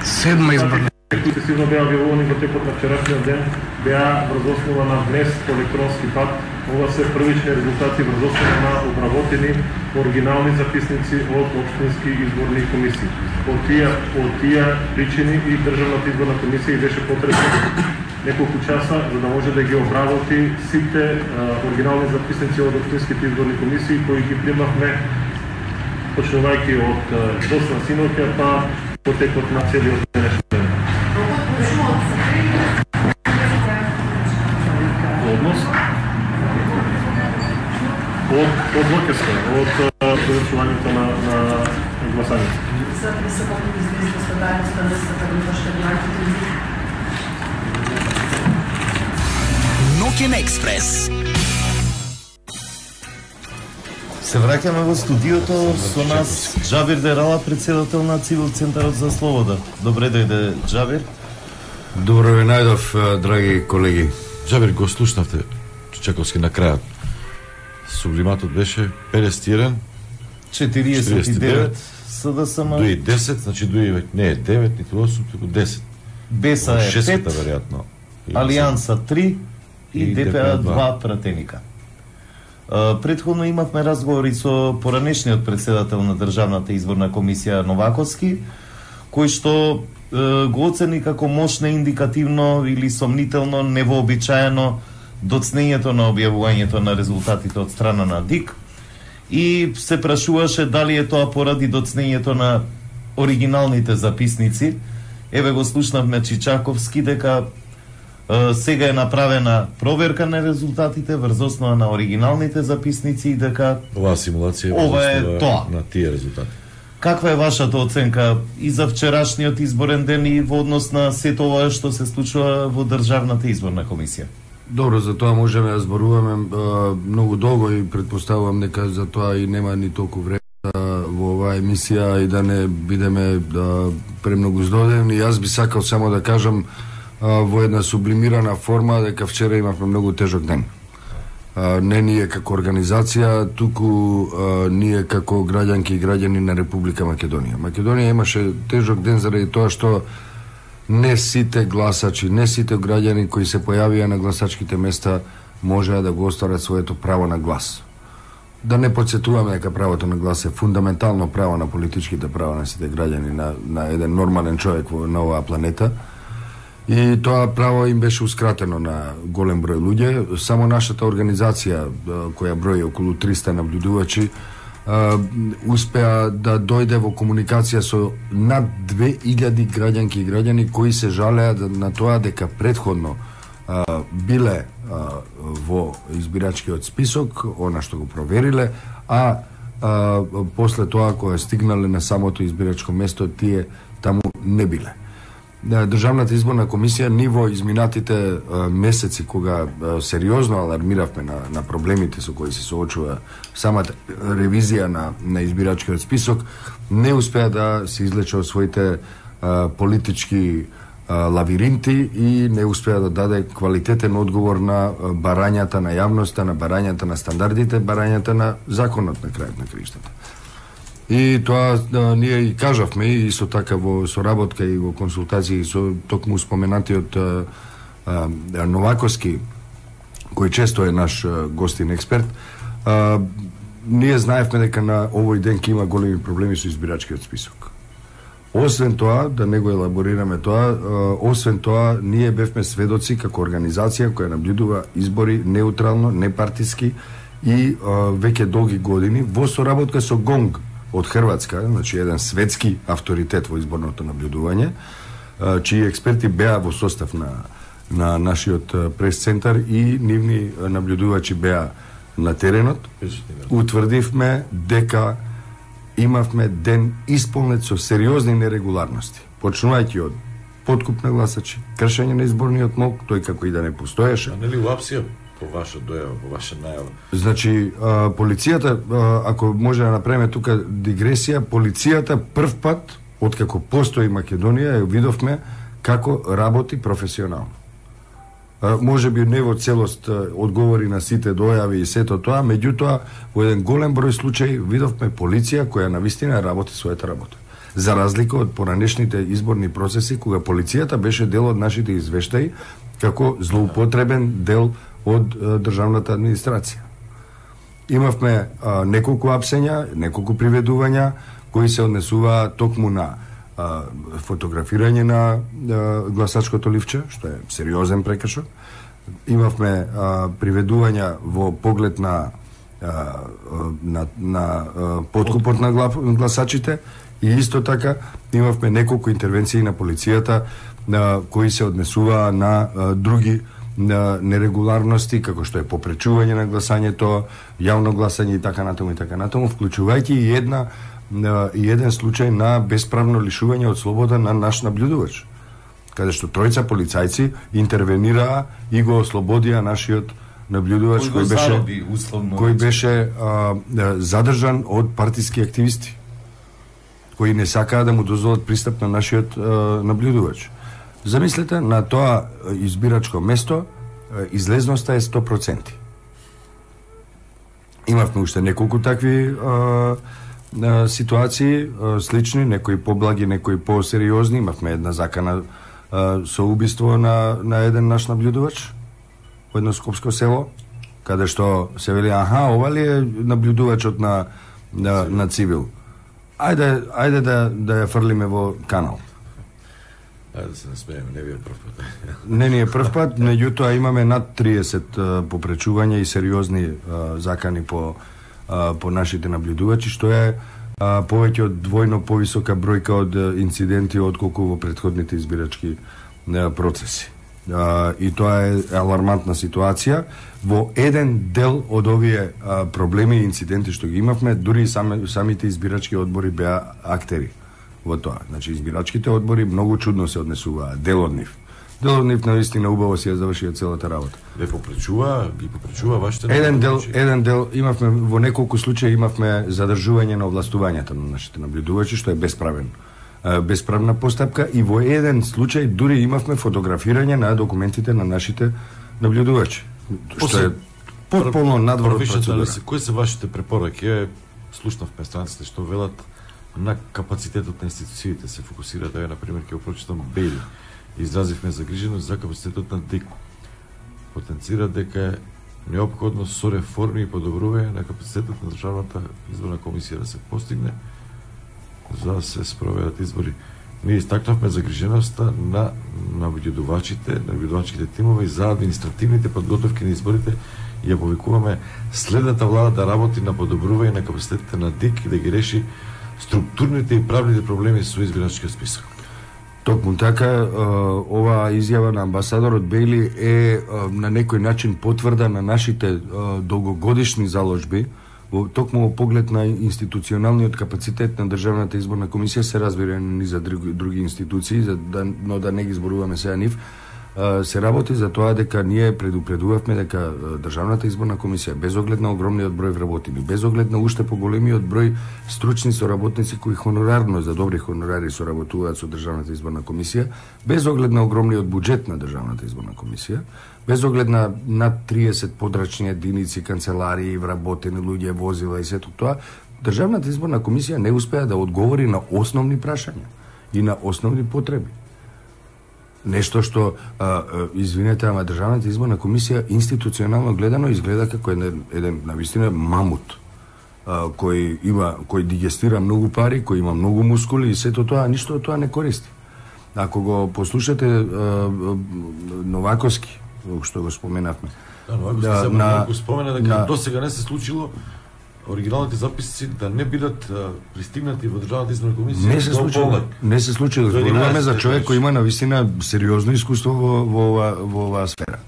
Седма изборна сесивно беа објавувани во текот на вчерашниот ден, беа врз основа на внес по електронски пат. Ова се првични резултати врз основа на обработени оригинални записници од општински изборни комисии. Од тие, од тие причини и Државната изборна комисија беше потребно неколку часа за да може да ги обработи сите а, оригинални записници од општинските изборни комисии кои ги примавме почнувајќи од досна синоќа па по текот на целиот денешен ден. Однос од од Локеска, од завршувањето на на гласањето. Ноќен експрес. Се враќаме во студиото со нас Џабир Дерала, председател на Цивил Центарот за слобода. Добре дојде, Џабир. Добро ви најдов, драги колеги. Џабир, го слушнавте Чаковски на крајот. Сублиматот беше педесет и еден, четириесет и девет СДСМ. Дуи десет, значи дуи не е девет, ниту осум, туку десет. Беса е пет, веројатно. Алијанса три и ДПА два пратеника. Претходно имавме разговори со поранешниот председател на Државната изборна комисија Новаковски, кој што го оцени како мошно индикативно или сомнително, невообичаено доцнењето на објавувањето на резултатите од страна на ДИК и се прашуваше дали е тоа поради доцнењето на оригиналните записници. Еве го слушнавме Чичаковски дека е, сега е направена проверка на резултатите врз основа на оригиналните записници и дека оваа симулација ова е тоа на тие резултати. Каква е вашата оценка и за вчерашниот изборен ден и во однос на сето ова што се случува во Државната изборна комисија? Добро, за тоа можеме да зборуваме а, многу долго и предпоставувам дека за тоа и нема ни толку време во оваа емисија и да не бидеме да, премногу здодевни. Јас би сакал само да кажам а, во една сублимирана форма дека вчера имавме многу тежок ден. А, не ние како организација, туку а, ние како граѓанки и граѓани на Република Македонија. Македонија имаше тежок ден заради тоа што не сите гласачи, не сите граѓани кои се појавија на гласачките места можеа да го остварат своето право на глас. Да не подсетуваме дека правото на глас е фундаментално право на политичките права на сите граѓани, на, на еден нормален човек во, на оваа планета. И тоа право им беше ускратено на голем број луѓе. Само нашата организација, која брои околу триста наблюдувачи, успеа да дојде во комуникација со над две илјади граѓанки и граѓани кои се жалеа на тоа дека предходно а, биле а, во избирачкиот список, она што го провериле, а, а после тоа кога стигнале на самото избирачко место, тие таму не биле. Државната изборна комисија ни во изминатите а, месеци кога а, сериозно алармиравме на, на проблемите со кои се соочува самата ревизија на, на избирачкиот список, не успеа да се излече од своите а, политички а, лавиринти и не успеа да даде квалитетен одговор на барањата на јавноста, на барањата на стандардите, барањата на законот на крајот на краиштата. И тоа да, ние и кажавме и со така во соработка и во консултации со токму споменатиот а, а, Новаковски, кој често е наш а, гостин експерт, а, ние знаевме дека на овој ден ќе има големи проблеми со избирачкиот список. Освен тоа, да не го елаборираме тоа, а, освен тоа, ние бевме сведоци како организација која наблюдува избори неутрално, непартиски и а, веќе долги години во соработка со ГОНГ од Хрватска, значи еден светски авторитет во изборното наблюдување, чии експерти беа во состав на, на нашиот прес-центар и нивни наблюдувачи беа на теренот. Утврдивме дека имавме ден исполнет со сериозни нерегуларности, почнувајќи од подкуп на гласачи, кршење на изборниот мок, тој како и да не постоеше. А нели уапсија по ваша дојава, по ваша најава? Значи, а, полицијата, а, ако може да направиме тука дигресија, полицијата прв пат, откако постои Македонија, ја видовме како работи професионално. А, може би не во целост а, одговори на сите дојави и сето тоа, меѓутоа, во еден голем број случаи видовме полиција која навистина работи својата работа. За разлика од поранешните изборни процеси кога полицијата беше дел од нашите извештаи како злоупотребен дел од а, државната администрација. Имавме а, неколку апсења, неколку приведувања кои се однесуваа токму на а, фотографирање на а, гласачкото ливче, што е сериозен прекршок. Имавме а, приведувања во поглед на а, на, на а, подкупот на гласачите и исто така имавме неколку интервенции на полицијата на кои се однесуваа на а, други на нерегуларности, како што е попречување на гласањето, јавно гласање и така натаму и така натаму, вклучувајќи и една и еден случај на бесправно лишување од слобода на наш наблюдувач, каде што тројца полицајци интервенираа и го ослободија нашиот наблюдувач кој, кој беше зароби, условно, кој беше а, задржан од партиски активисти кои не сакаа да му дозволат пристап на нашиот а, наблюдувач. Замислете, на тоа избирачко место излезноста е сто проценти. Имавме уште неколку такви а, а, ситуации, а, слични, некои поблаги, некои посериозни. Имавме една закана а, со убиство на, на еден наш наблюдувач во едно скопско село, каде што се вели, аха, ова ли е наблюдувачот на, на, на цивил? Ајде, ајде да, да ја фрлиме во канал. Ајде да се насмееме, не ви е прв пат. Не ни е прв пат, меѓутоа имаме над триесет а, попречувања и сериозни а, закани по, а, по нашите наблюдувачи, што е а, повеќе од двојно повисока бројка од а, инциденти отколку во претходните избирачки а, процеси. А, и тоа е алармантна ситуација. Во еден дел од овие а, проблеми и инциденти што ги имавме, дури сами, самите избирачки одбори беа актери во тоа. Значи, избирачките одбори многу чудно се однесуваа, дел од нив. Дел од нив наистина убаво си ја завршија целата работа. Ве попречува, ги попречува вашите... Еден дел, еден дел, имавме, во неколку случаи имавме задржување на овластувањата на нашите наблюдувачи, што е безправен. Безправна постапка и во еден случај дури имавме фотографирање на документите на нашите наблюдувачи. Што е потполно надвор од процедура. Кои се вашите препораки? Слушнавме странците што велат на капацитетот на институциите се фокусираат, да, например, ќе го прочитам Бейли. Изразивме загриженост за капацитетот на ДЕК. Потенцира дека е неопходно со реформи и подобрување на капацитетот на Државната изборна комисија да се постигне за да се спроведат избори. Ние истакнавме загриженоста на наблюдувачите, наблюдувачките тимови за административните подготовки на изборите и ја повикуваме следната влада да работи на подобрување на капацитетите на ДИК и да ги реши структурните и правните проблеми со избирачкиот список. Токму така, оваа изјава на амбасадорот Бейли е на некој начин потврда на нашите долгогодишни заложби, токму во поглед на институционалниот капацитет на Државната изборна комисија, се разбира и за други, други институции, за да, но да не ги зборуваме сега нив, се работи за тоа дека ние предупредувавме дека Државната изборна комисија, без оглед на огромниот број вработени, без оглед на уште поголемиот број стручни соработници кои хонорарно за добри хонорари соработуваат со Државната изборна комисија, без оглед на огромниот буџет на Државната изборна комисија, без оглед на над триесет подрачни единици, канцеларии, вработени луѓе, возила и сето тоа, Државната изборна комисија не успеа да одговори на основни прашања и на основни потреби. Нешто што, а, извинете, ама Државната изборна комисија институционално гледано изгледа како еден, еден навистина мамут, а, кој има, кој дигестира многу пари, кој има многу мускули и сето тоа, ништо од тоа не користи. Ако го послушате а, Новаковски, што го споменавме. Да, Новаковски да, се на, го спомена дека на, досега не се случило оригиналните записи да не бидат а, пристигнати во Државната изборна комисија. Не се случило. Не се случило. Зборуваме за човек кој има навистина сериозно искуство во во ова во оваа сфера.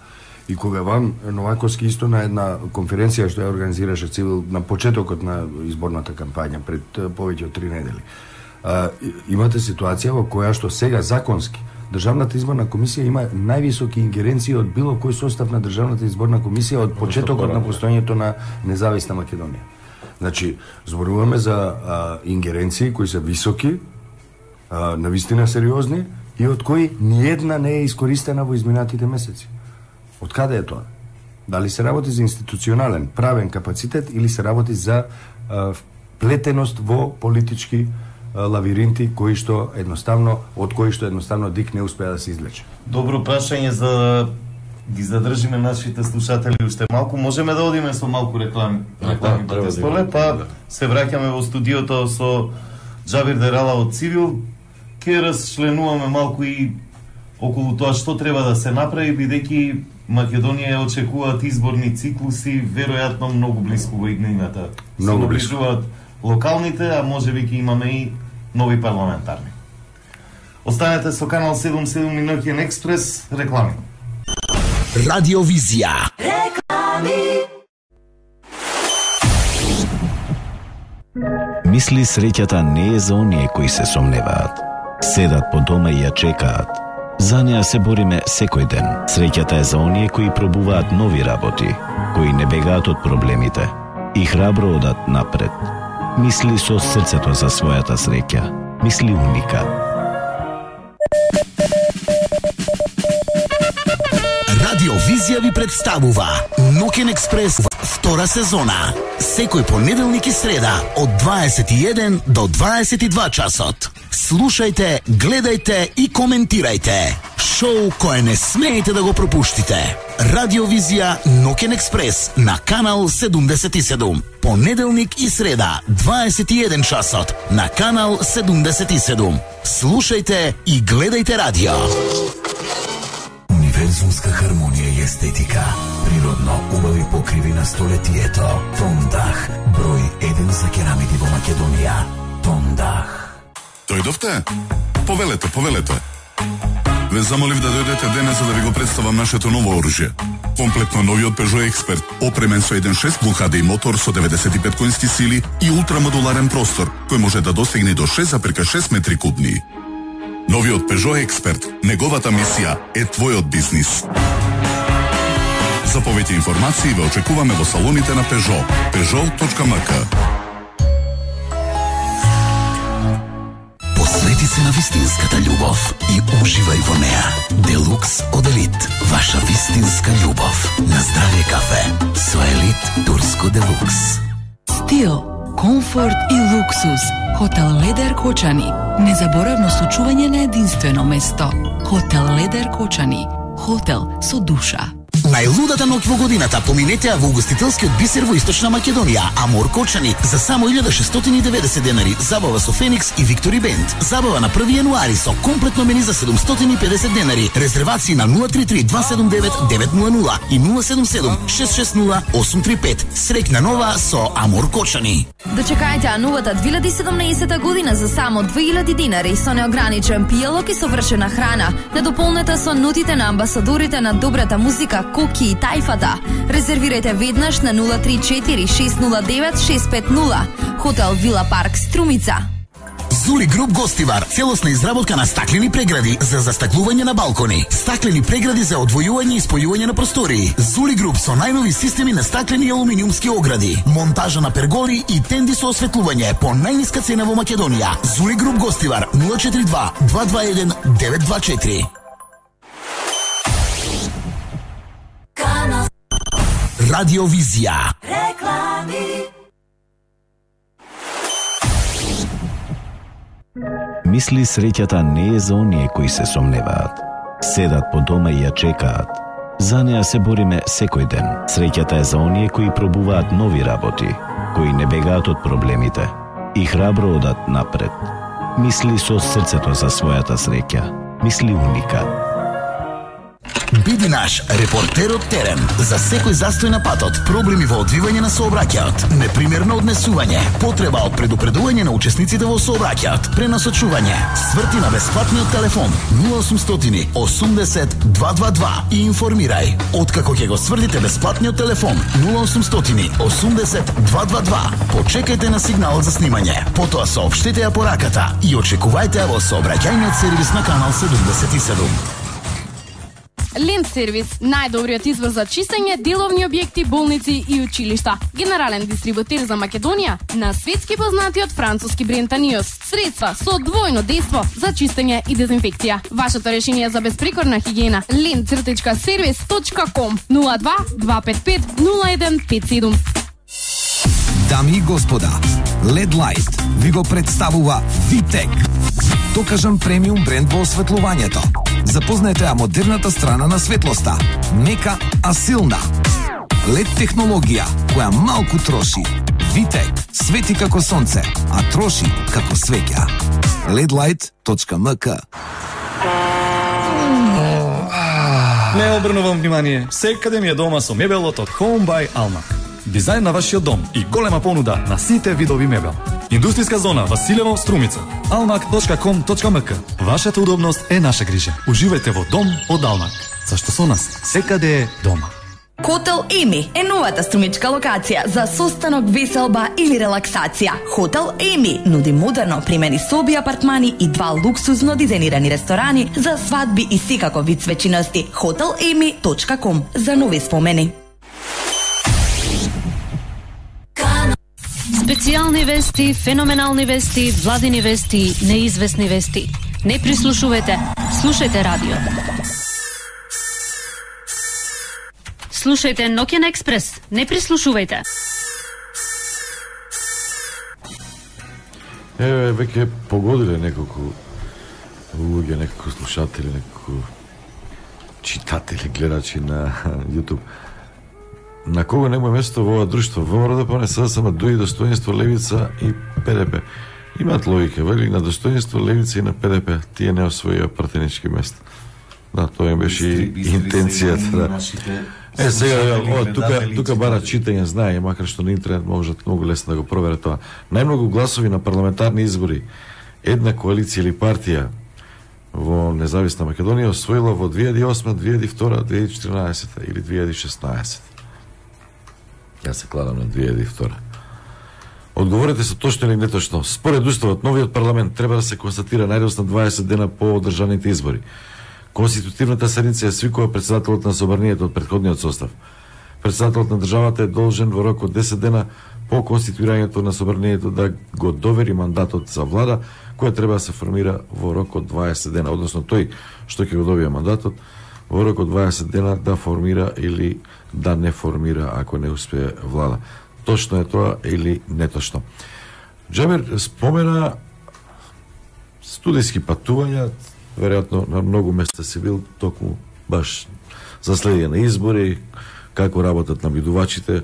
И кога вам Новаковски исто на една конференција што ја организираше Цивил на почетокот на изборната кампања пред повеќе од три недели. А, имате ситуација во која што сега законски Државната изборна комисија има највисоки ингеренции од било кој состав на Државната изборна комисија од почетокот на постоењето на независна Македонија. Значи, зборуваме за а, ингеренции кои се високи, а, навистина сериозни и од кои ниедна не е искористена во изминатите месеци. Од каде е тоа? Дали се работи за институционален, правен капацитет или се работи за а, вплетеност во политички лавиринти кои што едноставно од кои што едноставно Дик не успеа да се излече. Добро прашање за да ги задржиме нашите слушатели уште малку. Можеме да одиме со малку реклами, реклами да, да, столе, па да. Се враќаме во студиото со Џабир Дерала од Цивил. Ке расчленуваме малку и околу тоа што треба да се направи, бидејќи Македонија очекуваат изборни циклуси, веројатно многу блиску во иднината. Многу блиску. Локалните, а можеби ќе имаме и нови парламентарни. Останете со Канал седум седум и Ноќен експрес, реклами. Радиовизија. Реклами. Мисли среќата не е за оние кои се сомневаат. Седат по дома и ја чекаат. За неа се бориме секој ден. Среќата е за оние кои пробуваат нови работи, кои не бегаат од проблемите и храбро одат напред. Мисли со срцето за својата среќа. Мисли Уникат. Радиовизија ви представува Ноќен експрес втора сезона. Секој понеделник и среда од дваесет и еден до дваесет и два часот. Слушајте, гледајте и коментирајте. Шоу кое не смеете да го пропуштите. Радиовизија Ноќен експрес на Канал седумдесет и седум. Понеделник и среда, дваесет и еден часот на Канал седумдесет и седум. Слушајте и гледајте радио. Универзумска хармонија и естетика. Природно убави покриви на столетието. Тондах, број еден за керамиди во Македонија. Тондах. Дојдовте? Повелете, повелете. Ве замолив да дојдете денес за да ви го представам нашето ново оружје. Комплетно новиот Peugeot Expert, опремен со еден шест Blue H D мотор со деветдесет и пет конски сили и ултрамодуларен простор, кој може да достигне до шест зарез шест метри кубни. Новиот Peugeot Expert, неговата мисија е твојот бизнис. За повеќе информации ве очекуваме во салоните на Peugeot. Peugeot точка ем ка. Посвети се на вистинската љубов и уживај во неа. Делукс од Елит, ваша вистинска љубов. На здравје кафе со Елит Турско Делукс. Стил, комфорт и луксус. Хотел Ледер Кочани. Незаборавно сочување на единствено место. Хотел Ледер Кочани. Хотел со душа. Најлудата ноќ во годината поминете ја во угостителскиот бисер во Источна Македонија, Амор Кочани, за само илјада шестстотини и деветдесет денари, забава со Феникс и Виктори Бенд. Забава на први јануари со комплетно мени за седумстотини и педесет денари. Резервации на нула три три два седум девет девет нула нула и нула седум седум шест шест нула осум три пет. Среќна нова со Амор Кочани. Дочекајте ја новата две илјади и седумнаесета година за само две илјади динари со неограничен пијалок и совршена храна. Недополнета со нотите на амбасадорите на добрата музика Коки и Тајфата. Резервирајте веднаш на нула три четири шест нула девет шест пет нула. Хотел Вила Парк Струмица. Зули Груп Гостивар, целосна изработка на стаклени прегради за застаклување на балкони, стаклени прегради за одвојување и спојување на простории. Зули Груп со најнови системи на стаклени и алуминиумски огради, монтажа на перголи и тенди со осветлување по најниска цена во Македонија. Зули Груп Гостивар нула четири два два два еден девет два четири. Радиовизија. Реклами. Мисли среќата не е за оние кои се сомневаат. Седат по дома и ја чекаат. За неа се бориме секој ден. Среќата е за оние кои пробуваат нови работи, кои не бегаат од проблемите и храбро одат напред. Мисли со срцето за својата среќа. Мисли Уникат. Биди наш репортер од терен за секој застој на патот, проблеми во одвивање на сообраќајот, непримерно однесување, потреба од предупредување на учесниците во сообраќајот, пренасочување, сврти на бесплатниот телефон нула осумстотини осумдесет два два два и информирај. Откако ќе го свртите бесплатниот телефон нула осумстотини осумдесет два два два, почекајте на сигналот за снимање, потоа соопштете ја пораката и очекувајте ја во сообраќајниот сервис на Канал седумдесет и седум. Лент сервис, најдобриот избор за чистење, деловни објекти, болници и училишта. Генерален дистрибутер за Македонија на светски познатиот француски бренд Аниос. Средства со двојно дејство за чистење и дезинфекција. Вашето решение за безпрекорна хигиена. лент сервис точка ком нула два два пет пет нула еден пет седум. Дами и господа, Лед Light ви го представува Витек. Докажан премиум бренд во осветлувањето. Запознаете ја модерната страна на светлоста. Мека, а силна. Лед технологија, која малку троши. Витек, свети како сонце, а троши како свеќа. лед лайт точка ем ка. Не обрнувам внимание, секаде ми е дома со мебелот од Home by Almac. Дизајн на вашиот дом и голема понуда на сите видови мебел. Индустријска зона Василево, Струмица. алмак точка ком точка ем ка. Вашата удобност е наша грижа. Уживајте во дом од Almac. Зашто со нас секаде е дома. Хотел Еми е новата струмичка локација за состанок, веселба или релаксација. Хотел Еми нуди модерно примени соби, апартмани и два луксузно дизајнирани ресторани за свадби и секако вид свечиности. хотел еми точка ком за нови спомени. Специјални вести, феноменални вести, владини вести, неизвестни вести. Не прислушувате, слушајте радио. Слушајте Ноќен експрес, не прислушувајте. Еве, веќе погодиле неколку луѓе, неколку слушатели, неколку читатели, гледачи на YouTube. На кого нема место во ова друштво? ВМРО СДСМ, ДУИ, Достоинство, Левица и ПДП. Имаат логика, вели на Достоинство, Левица и на ПДП. Тие не освоија партенички места. Да, тоа им беше и интенцијата. Да. Е, сега, о, тука, тука бара читање, знае, макар што на интернет можат многу лесно да го проверат тоа. Најмногу гласови на парламентарни избори една коалиција или партија во независна Македонија освоила во две илјади и осма, две илјади и втора, две илјади и четиринаесета или две илјади и шеснаесета. Јас се кладам на две илјади и втора. Одговорете се точно или неточно. Според уставот, новиот парламент треба да се констатира најдосна дваесет дена по одржаните избори. Конститутивната седница е свикува председателот на собранието од претходниот состав. Председателот на државата е должен во рок од десет дена по конституирањето на собранието да го довери мандатот за влада, која треба да се формира во рок од дваесет дена, односно тој што ќе го добие мандатот во рок од дваесет дена да формира или да не формира ако не успее влада. Точно е тоа или неточно? Џабер спомена студиски патувања, веројатно на многу места си бил токму баш за следење на избори, како работат набидувачите,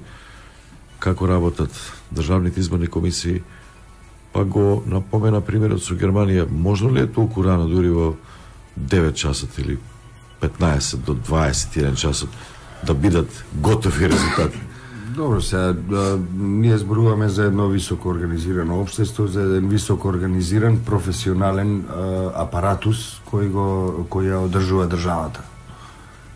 како работат државните изборни комисии, па го напомена примерот со Германија. Можно ли е толку рано, дури во девет часот или петнаесет до дваесет и еден часот, да бидат готови резултати? Добро, сега, да, ние зборуваме за едно високо организирано општество, за еден високо организиран професионален а, апаратус кој го кој ја одржува државата.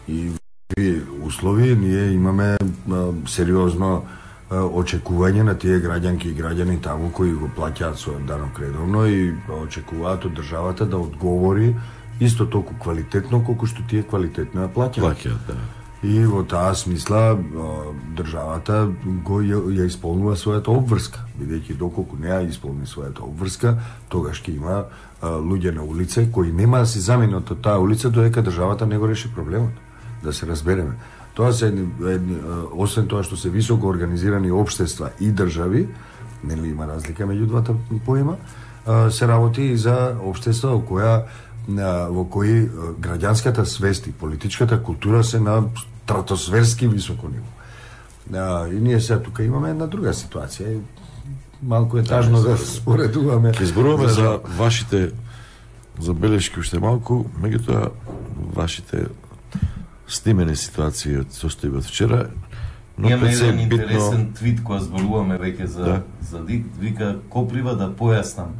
И во услови ние имаме а, сериозно а, очекување на тие граѓанки и граѓани таму кои го плаќаат својот данок редовно и очекуваат од државата да одговори исто толку квалитетно колку што тие квалитетно ја плаќаат. Плаќаат, да. И во таа смисла државата го ја, ја исполнува својата обврска, бидејќи доколку не ја исполни својата обврска, тогаш ќе има а, луѓе на улица кои нема да се заменат од таа улица додека државата не го реши проблемот. Да се разбереме. Тоа се едни, едни, освен тоа што се високо организирани општества и држави, нели има разлика меѓу двата поима, а, се работи и за општества во која во кои граѓанската свест и политичката култура се на стратосферски високо ниво. А, и ние сега тука имаме една друга ситуација. Малку е тажно да споредуваме. Ќе зборуваме за, за вашите забелешки уште малку, меѓутоа вашите снимени ситуации од состојбот вчера. Но имаме еден интересен твит која зборуваме веќе за, да. за ДИК, вика Коплива да појаснам.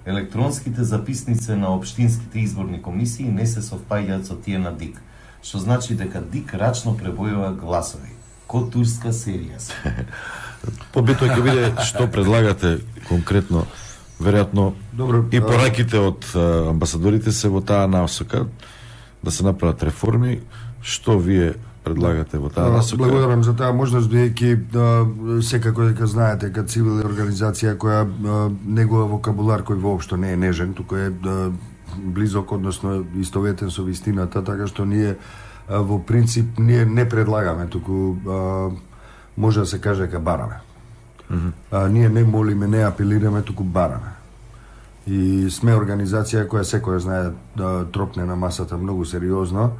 Електронските записници на општинските изборни комисии не се совпаѓаат со тие на ДИК, што значи дека ДИК рачно пребројува гласови. Ко турска серија. Побитно ќе биде што предлагате конкретно, веројатно и пораките од амбасадорите се во таа насока да се направат реформи, што вие предлагате во таа насока? Благодарам за таа можност, бидејќи секако дека знаете, кај цивилна организација која негова вокабулар кој воопшто не е нежен, туку е близок, односно истоветен со вистината, така што ние во принцип ние не предлагаме, туку може да се каже дека бараме. Mm-hmm. А, ние не молиме, не апелираме, туку бараме. И сме организација која секоја знае да тропне на масата многу сериозно,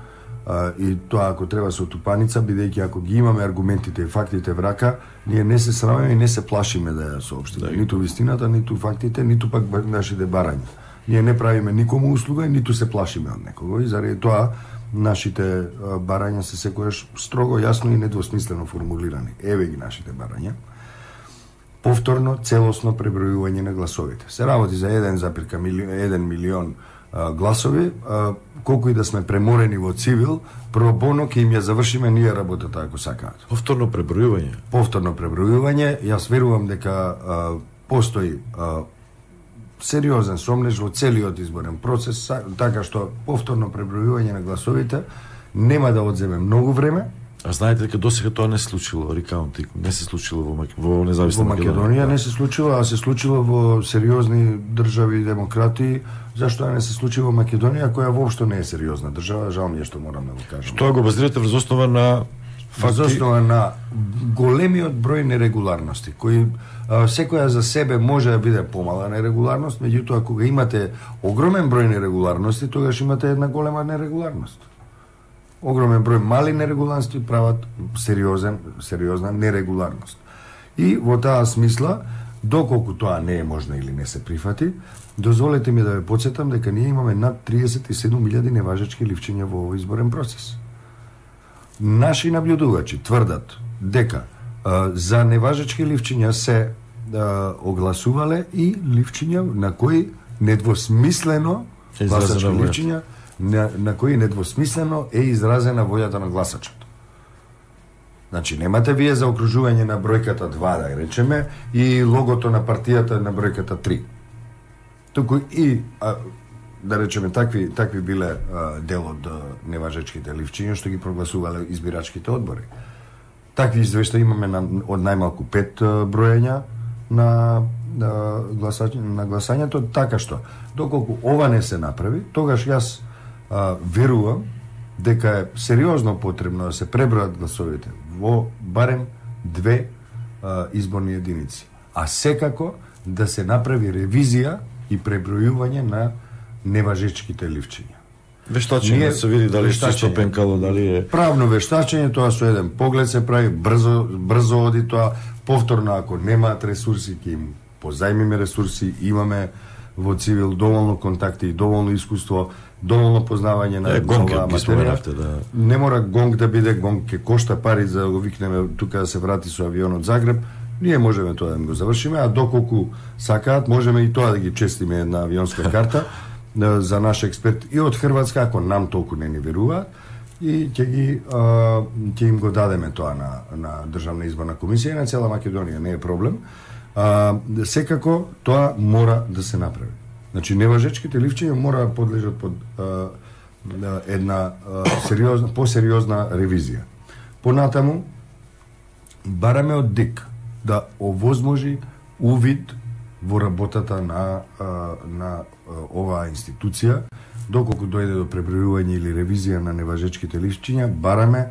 а, и тоа ако треба со тупаница, бидејќи ако ги имаме аргументите и фактите в рака, ние не се срамиме и не се плашиме да ја соопштиме. Да. Ниту вистината, ниту фактите, ниту пак нашите барања. Ние не правиме никому услуга и ниту се плашиме од некого. И заради тоа нашите барања се секојаш строго, јасно и недвосмислено формулирани. Еве ги нашите барања. Повторно, целосно пребројување на гласовите. Се работи за еден милион а, гласови, а, колку и да сме преморени во цивил, пробоно ќе им ја завршиме ние работата ако сакаат. Повторно пребројување. Повторно пребројување, јас верувам дека а, постои а, сериозен сомнеж во целиот изборен процес, така што повторно пребројување на гласовите нема да одземе многу време. А знаете дека досега тоа не се случило, рекаунтинг, не се случило во, Мак... во независна во Македонија. Во Македонија не се случило, а се случило во сериозни држави и демократи. Зашто не се случи во Македонија, која воопшто не е сериозна држава, жал ми е што морам да го кажам. Што го базирате врз основа на факти? Врз основа на големиот број нерегуларности, кои а, секоја за себе може да биде помала нерегуларност, меѓутоа кога имате огромен број нерегуларности, тогаш имате една голема нерегуларност. Огромен број мали нерегуларности прават сериозен, сериозна нерегуларност. И во таа смисла, доколку тоа не е можно или не се прифати, дозволете ми да ве потсетам дека ние имаме над триесет и седум илјади неважечки ливчиња во овој изборен процес. Наши наблюдувачи тврдат дека а, за неважечки ливчиња се а, огласувале и ливчиња на кои недвосмислено гласачки ливчиња на, на кои недвосмислено е изразена волјата на гласачот. Значи, немате вие за окружување на бројката два, да речеме, и логото на партијата на бројката три. Туку и, а, да речеме, такви, такви биле а, дел од неважечките ливчиња што ги прогласувале избирачките одбори. Такви извештаи имаме на, од најмалку пет а, бројања на, на, гласање, на гласањето, така што, доколку ова не се направи, тогаш јас а, верувам дека е сериозно потребно да се пребројат гласовите во барем две а, изборни единици. А секако да се направи ревизија и пребројување на неважечките ливчиња. Вештачење, да се види дали е чисто пенкало, дали е... Правно вештачење, тоа со еден поглед се прави, брзо, брзо оди тоа, повторно ако немаат ресурси, ќе им позајмиме ресурси, имаме во цивил доволно контакти и доволно искуство, доволно познавање на оваа материја. Да. Не мора гонг да биде, гонг ќе кошта пари за да го викнеме тука да се врати со авион од Загреб. Ние можеме тоа да го завршиме, а доколку сакаат, можеме и тоа да ги честиме една авионска карта за наш експерт и од Хрватска, ако нам толку не ни веруваат, и ќе ги а, ќе им го дадеме тоа на на Државна изборна комисија и на цела Македонија, не е проблем. А, секако тоа мора да се направи. Значи неважечките ливчиња мора да подлежат под а, една а, сериозна, посериозна ревизија. Понатаму бараме од ДИК да овозможи увид во работата на а, на оваа институција, доколку дојде до пребројување или ревизија на неважечките ливчиња, бараме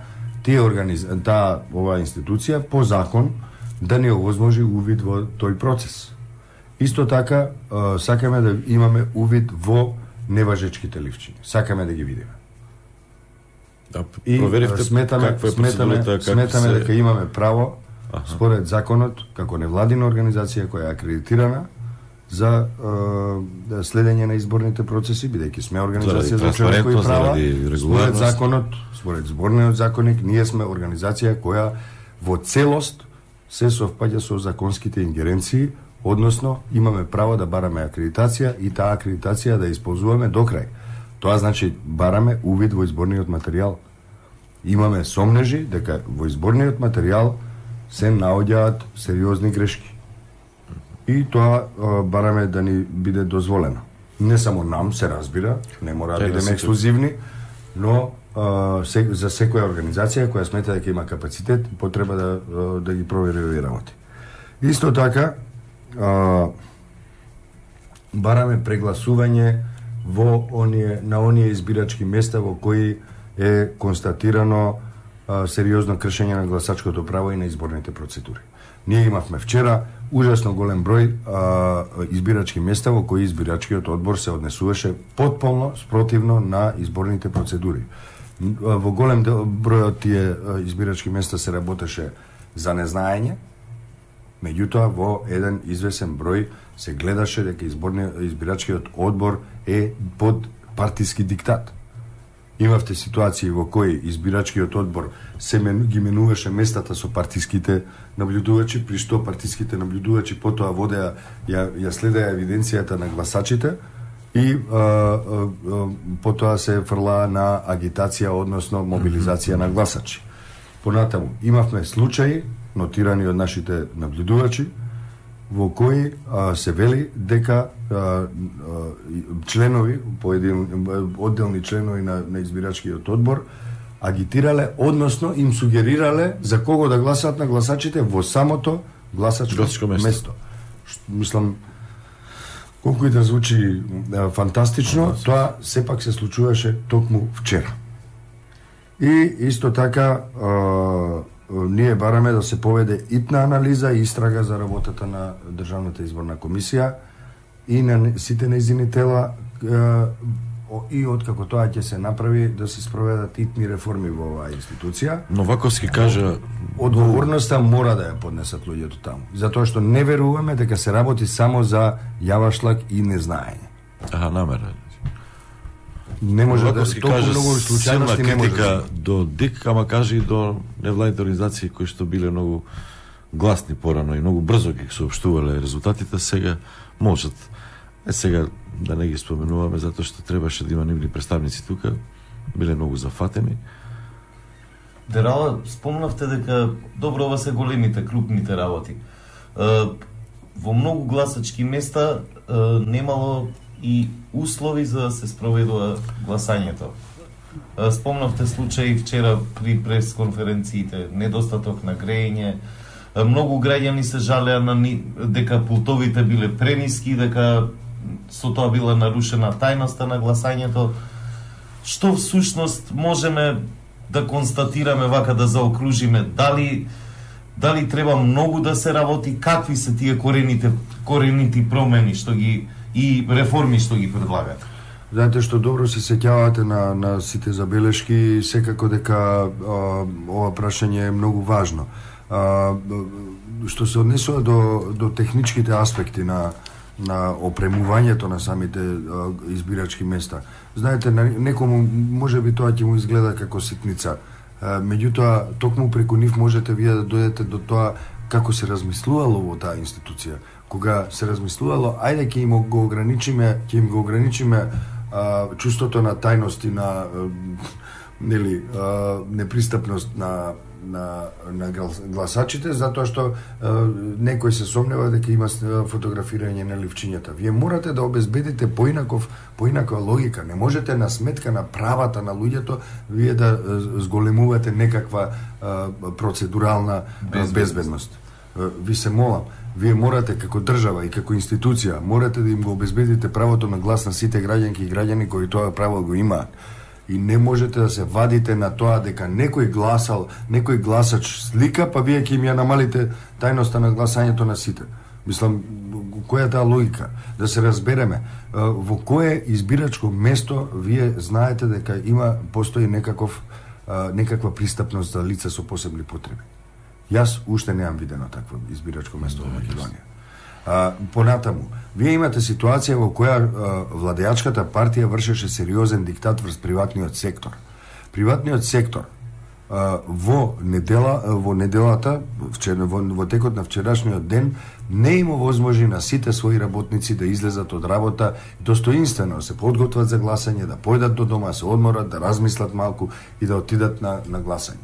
тие организ... таа оваа институција по закон да не овозможи увид во тој процес. Исто така, а, сакаме да имаме увид во неважечките ливчиња. Сакаме да ги видиме. Да, проверивте сметаме, каква е сметаме, процедурата, сметаме се... дека имаме право, аха, според законот, како невладина организација која е акредитирана за е, следење на изборните процеси, бидејќи сме организација за човекови права, според законот, според зборниот законник, ние сме организација која во целост се совпаѓа со законските ингеренции, односно имаме право да бараме акредитација и таа акредитација да исползуваме до крај. Тоа значи бараме увид во изборниот материјал. Имаме сомнежи дека во изборниот материјал се наоѓаат сериозни грешки. И тоа а, бараме да ни биде дозволено. Не само нам се разбира, не мора да бидеме ексклузивни, но а, се, за секоја организација која смета дека има капацитет, потреба да, да ги провери овие работи. Исто така, а, бараме прегласување во оние, на оние избирачки места во кои е констатирано а, сериозно кршење на гласачкото право и на изборните процедури. Ние имавме вчера ужасно голем број а, избирачки места во кои избирачкиот одбор се однесуваше потполно спротивно на изборните процедури. Во голем дел, број од тие избирачки места се работеше за незнаење, меѓутоа во еден извесен број се гледаше дека изборниот избирачкиот одбор е под партиски диктат. Имавте ситуации во кои избирачкиот одбор се мен, ги менуваше местата со партиските наблюдувачи, при што партиските наблюдувачи потоа водеа, ја, ја следеа евиденцијата на гласачите и а, а, а, потоа се фрлаа на агитација, односно мобилизација на гласачи. Понатаму, имавме случаи, нотирани од нашите наблюдувачи, во кои а, се вели дека а, а, членови, поедин, одделни членови на, на избирачкиот одбор, агитирале, односно им сугерирале за кого да гласат на гласачите во самото гласачко место. место. Ш, мислам, колку и да звучи а, фантастично, да, тоа сепак се случуваше токму вчера. И исто така а, ние бараме да се поведе итна анализа и истрага за работата на Државната изборна комисија и на сите нејзини тела и откако тоа ќе се направи да се спроведат итни реформи во оваа институција. Новаковски кажа одговорноста мора да ја поднесат луѓето таму, затоа што не веруваме дека се работи само за јавашлак и незнаење. Аха, намера. Не може да се каже многу случајности не може да до ДИК, ама каже и до невладните организации кои што биле многу гласни порано и многу брзо ги соопштувале резултатите, сега можат. Е сега да не ги споменуваме затоа што требаше да има нивни представници тука, биле многу зафатени. Дерала, спомнавте дека добро ова се големите, крупните работи. Во многу гласачки места немало и услови за да се спроведува гласањето. Спомнавте случаи вчера при пресконференциите, недостаток на грејење, многу граѓани се жалеа на ни, дека пултовите биле прениски, дека со тоа била нарушена тајноста на гласањето. Што всушност можеме да констатираме вака, да заокружиме? Дали дали треба многу да се работи, какви се тие корените корените промени што ги и реформи што ги предлагат? Знаете што добро се сеќавате на, на сите забелешки, секако дека а, ова прашање е многу важно. А, што се однесува до, до техничките аспекти на, на опремувањето на самите а, избирачки места. Знаете, на некому може би тоа ќе му изгледа како ситница, а, меѓутоа токму преку нив можете вие да дојдете до тоа како се размислувало во таа институција. Кога се размислувало, ајде ќе им го ограничиме, ќе им го ограничиме а, чувството на тајност и на а, нели а, непристапност на на на гласачите, затоа што а, некој се сомнева дека има фотографирање на ливчињата. Вие морате да обезбедите поинаков поинаква логика. Не можете на сметка на правата на луѓето вие да зголемувате некаква а, процедурална безбедност. безбедност. Ви се молам, вие морате како држава и како институција морате да им го обезбедите правото на глас на сите граѓанки и граѓани кои тоа право го имаат. И не можете да се вадите на тоа дека некој гласал, некој гласач слика, па вие ќе им ја намалите тајноста на гласањето на сите. Мислам, која е таа логика? Да се разбереме, во кое избирачко место вие знаете дека има постои некаков некаква пристапност за лица со посебни потреби. Јас уште неам видено такво избирачко место во Македонија. А, понатаму, вие имате ситуација во која а, владеачката партија вршеше сериозен диктат врз приватниот сектор. Приватниот сектор а, во недела во неделата, вчера, во, во текот на вчерашниот ден, не има возможни на сите своји работници да излезат од работа достоинствено, се подготват за гласање, да појдат до дома, се одморат, да размислат малку и да отидат на, на гласање.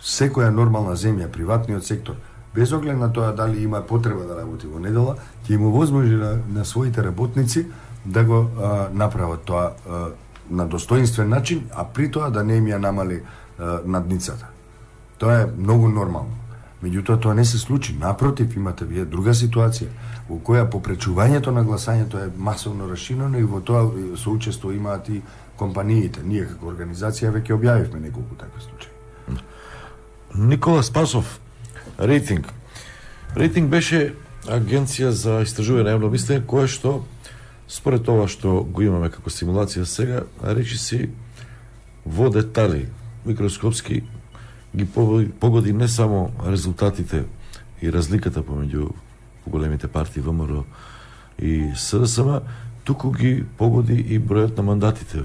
Секоја нормална земја, приватниот сектор, без оглед на тоа дали има потреба да работи во недела, ќе има возможност на, на своите работници да го а, направат тоа а, на достоинствен начин, а при тоа да не им ја намали а, надницата. Тоа е многу нормално. Меѓутоа тоа не се случи. Напротив, имате вие друга ситуација во која попречувањето на гласањето е масовно расширено и во тоа соучество имаат и компаниите. Ние како организација веќе објавивме неколку такви случаи. Никола Спасов, рейтинг. Рейтинг беше агенција за истражување на јавно мислење, кое што според ова што го имаме како симулација сега, речи си во детали, микроскопски ги погоди не само резултатите и разликата помеѓу поголемите партии ВМРО и СДСМ, туку ги погоди и бројот на мандатите.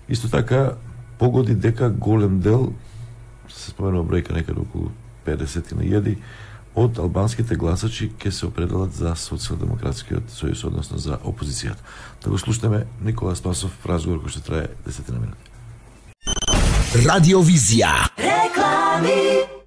Исто така погоди дека голем дел, се споменува бројка некаде околу педесет илјади, од албанските гласачи ќе се определат за социјалдемократскиот сојуз, односно за опозицијата. Да го слушнеме Никола Спасов в разговор кој ќе трае десет минути. Радиовизија. Реклами.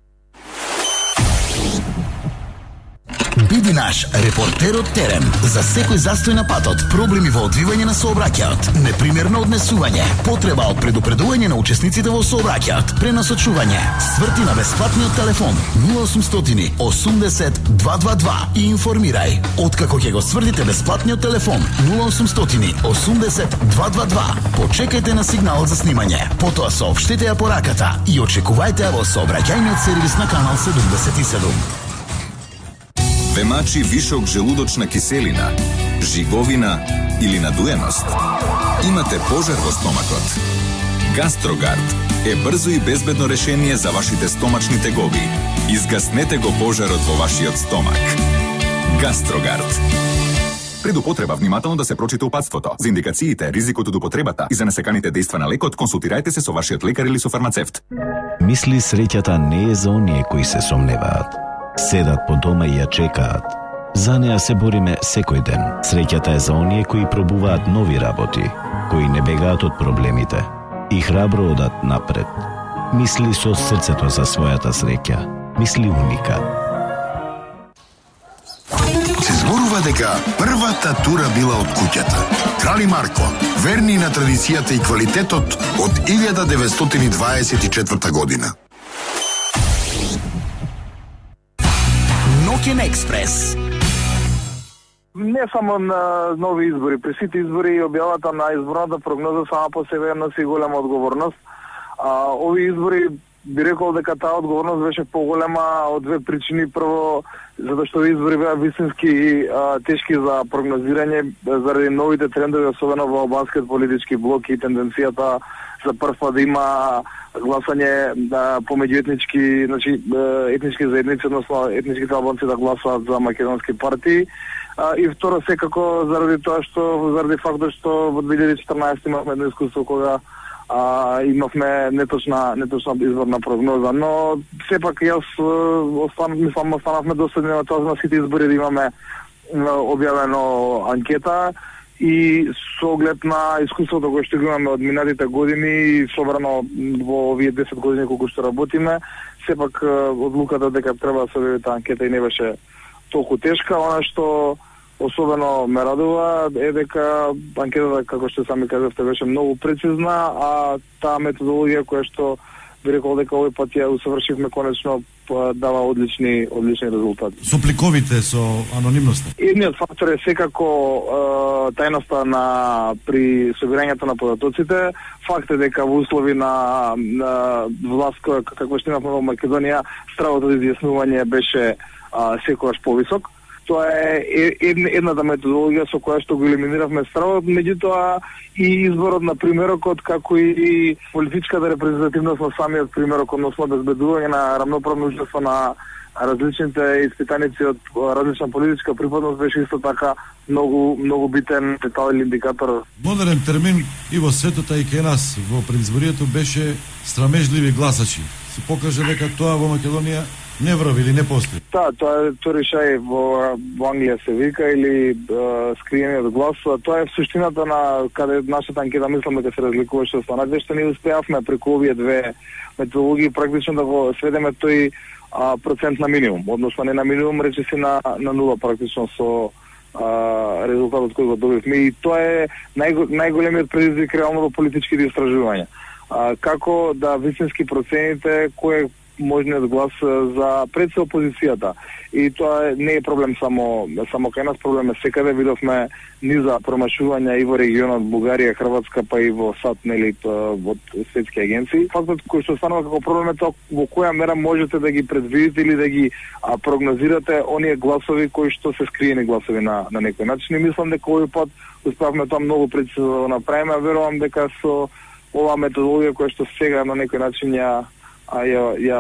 Биди наш репортер од терен за секој застој на патот, проблеми во одвивање на сообраќајот, непримерно однесување, потреба од предупредување на учесниците во сообраќајот, пренасочување. Сврти на бесплатниот телефон нула осумстотини осумдесет дваста дваесет и два и информирај. Откако ќе го свртите бесплатниот телефон нула осумстотини осумдесет дваста дваесет и два, почекајте на сигналот за снимање. Потоа соопштете ја пораката и очекувајте ја во сообраќајниот сервис на канал седумдесет и седум. Ве мачи вишок желудочна киселина, жиговина или надуеност? Имате пожар во стомакот? Гастрогард е брзо и безбедно решение за вашите стомачни тегоби. Изгаснете го пожарот во вашиот стомак. Гастрогард. Пред употреба внимателно да се прочита упатството. За индикациите, ризикот од употребата и за несаканите дејства на лекот, консултирајте се со вашиот лекар или со фармацевт. Мисли среќата не е за оние кои се сомневаат. Седат по дома и ја чекаат. За неа се бориме секој ден. Среќата е за оние кои пробуваат нови работи, кои не бегаат од проблемите и храбро одат напред. Мисли со срцето за својата среќа. Мисли Уникат. Се зборува дека првата тура била од куќата. Крали Марко, верни на традицијата и квалитетот од илјада деветстотини дваесет и четврта година. Ноќен експрес. Не само на нови избори, при сите избори и објавата на изборната прогноза сама по себе носи голема одговорност. А, ови избори би рекол дека таа одговорност беше поголема од две причини. Прво, затоа што избори беа вистински а, тешки за прогнозирање заради новите трендови, особено во албанскиот политички блок и тенденцијата за прв пат да има гласање да, помеѓу етнички, значи етнички заедници, односно етничките албанци да гласаат за македонски партии. А, и второ, секако заради тоа што заради фактот што во две илјади и четрнаесетта имавме едно искуство кога а, имавме неточна неточна изборна прогноза, но сепак јас остан, мислам останавме доследни на тоа на сите избори да имаме објавено анкета и со оглед на искуството кое што го имаме од минатите години и собрано во овие десет години колку што работиме, сепак одлуката дека треба да се објави таа анкета и не беше толку тешка. Она што особено ме радува е дека анкетата, како што сами кажавте, беше многу прецизна, а таа методологија која што би рекол дека овој пат ја усавршивме конечно дава одлични одлични резултати. Со пликовите, со анонимноста. Едниот фактор е секако е, тајноста на при собирањето на податоците. Факт е дека во услови на, на власт како што имавме во Македонија, стравото за изјаснување беше а, секогаш повисок. Тоа е една, едната методологија со која што го елиминиравме стравот, меѓутоа и изборот на примерокот, како и политичката репрезентативност на самиот примерок, односно безбедување на рамноправно учество на различните испитаници од различна политичка припадност беше исто така многу многу битен детал или индикатор. Модерен термин и во светот, и кај нас во предизборието беше страмежливи гласачи. Се покаже дека тоа во Македонија не врави или не постои. Да, тоа е торишај во, во Англија се вика или скриениот глас. Тоа е суштината на каде нашата анкета мислам дека се разликуваше од останатите, што ние успеавме преку овие две методологии практично да го сведеме тој а, процент на минимум, односно не на минимум, речиси на на нула практично со а, резултатот кој го добивме, и тоа е најго, најголемиот предизвик реално во политичките истражувања. А, како да вистински процените кој можниот глас за пред се опозицијата. И тоа не е проблем само само кај нас, проблем е секаде. Видовме низа промашувања и во регионот Бугарија, Хрватска, па и во САД, нели, од светски агенции. Фактот кој што станува како проблем е тоа во која мера можете да ги предвидите или да ги а, прогнозирате оние гласови кои што се скриени гласови на на некој начин. И мислам дека овој пат успеавме тоа многу прецизно да направиме, верувам дека со оваа методологија која што сега на некој начин ја а ја ја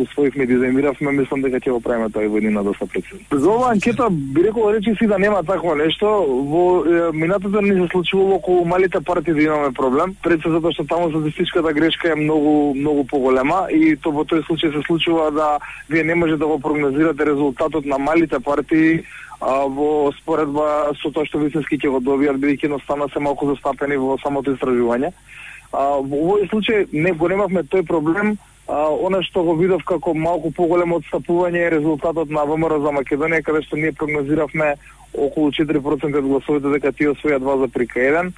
усвоивме и дизајниравме, мислам дека ќе го правиме тоа и во еднина доста прецизно. За оваа анкета би рекол речи си да нема такво нешто. Во минатото ни се случувало околу малите партии да имаме проблем, пред се затоа што таму статистичката грешка е многу многу поголема и то во тој случај се случува да вие не можете да го прогнозирате резултатот на малите партии а, во споредба со тоа што вистински ќе го добијат, бидејќи едноставно се малку застапени во самото истражување. А, во овој случај не го немавме тој проблем. А, она што го видов како малку поголемо отстапување е резултатот на ВМРО за Македонија, каде што ние прогнозиравме околу четири проценти од гласовите дека тие освојат два запирка еден.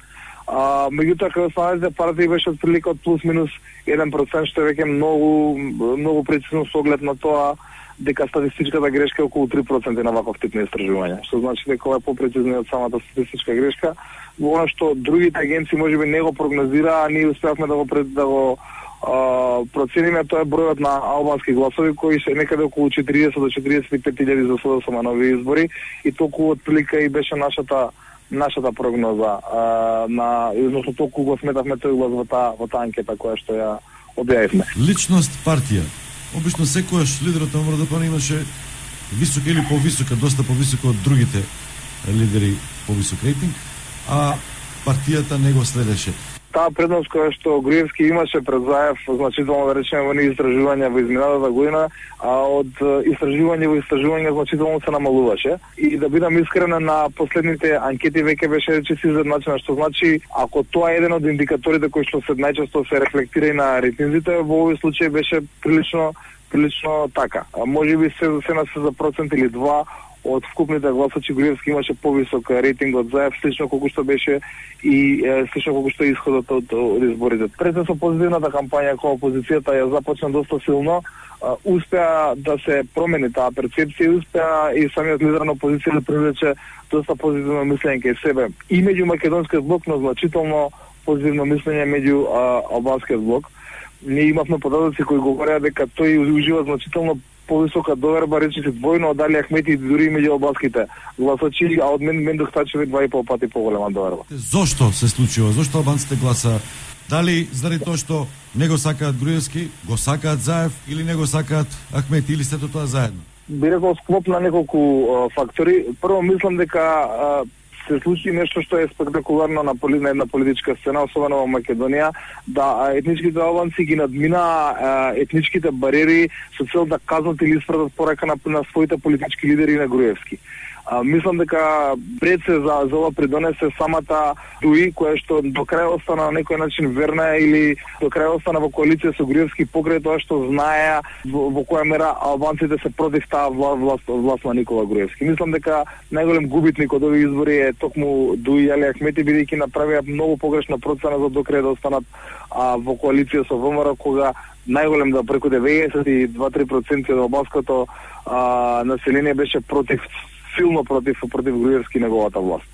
А, меѓутоа каде останалите партии беше отприлика од плюс минус еден процент, што е веќе многу многу прецизно со оглед на тоа дека статистичката грешка е околу три проценти на ваков тип на истражување, што значи дека ова е попрецизно од самата статистичка грешка. Во она што другите агенции можеби не го прогнозира, а ние успеавме да го пред, да го а, процениме, тоа е бројот на албански гласови кои се некаде околу четириесет до четириесет и пет илјади за СДСМ на нови избори и толку отприлика и беше нашата нашата прогноза а, на износно толку го сметавме тој глас во таа во таа анкета која што ја објавивме. Личност партија. Обично секојаш лидерот на МРДП имаше висока или повисока, доста повисока од другите лидери, повисок рейтинг, а партијата не го следеше. Таа предност која што Груевски имаше пред Заев, значително да речеме во нив истражувања во изминатата година, а од истражување во истражување значително се намалуваше. И да бидам искрена, на последните анкети веќе беше речиси изедначена, што значи ако тоа е еден од индикаторите кои што се најчесто се рефлектира и на рейтинзите, во овој случај беше прилично прилично така. А можеби се се на се за процент или два од вкупните гласачи Груевски имаше повисок рейтинг од Заев, слично колку што беше и е, слично колку што е исходот од, од изборите. Пред со позитивната кампања која опозицијата ја започна доста силно, а, успеа да се промени таа перцепција и успеа и самиот лидер на опозиција да привлече доста позитивно мислење кај себе и меѓу македонскиот блок, но значително позитивно мислење меѓу а, албанскиот блок. Ние имавме податоци кои говореа дека тој ужива значително повисока доверба, речиси двојно од Али Ахмети и дури меѓу албанските гласачи, а од мен Мендух Тачеви два и пол пати поголема доверба. Зошто се случува? Зошто албанците гласа? Дали заради тоа што не го сакаат Груевски, го сакаат Заев или не го сакаат Ахмети или сето тоа заедно? Би рекол склоп на неколку а, фактори. Прво мислам дека а, се случи нешто што е спектакуларно на, поли, на една политичка сцена, особено во Македонија, да етничките албанци ги надмина а, етничките бариери со цел да казнат или испратат порака на, на своите политички лидери на Груевски. А, мислам дека пред се за, за ова придонесе самата Дуи, која што до крај остана на некој начин верна или до крај остана во коалиција со Груевски покрај тоа што знаеа во, во која мера албанците се против таа власт, власт на Никола Груевски. Мислам дека најголем губитник од овие избори е токму Дуи и Али Ахмети, бидејќи направија многу погрешна процена за до крај да останат а, во коалиција со ВМРО, кога најголем да преку деветдесет и два до три проценти од албанското а, население беше против силно против против Груевски неговата власт.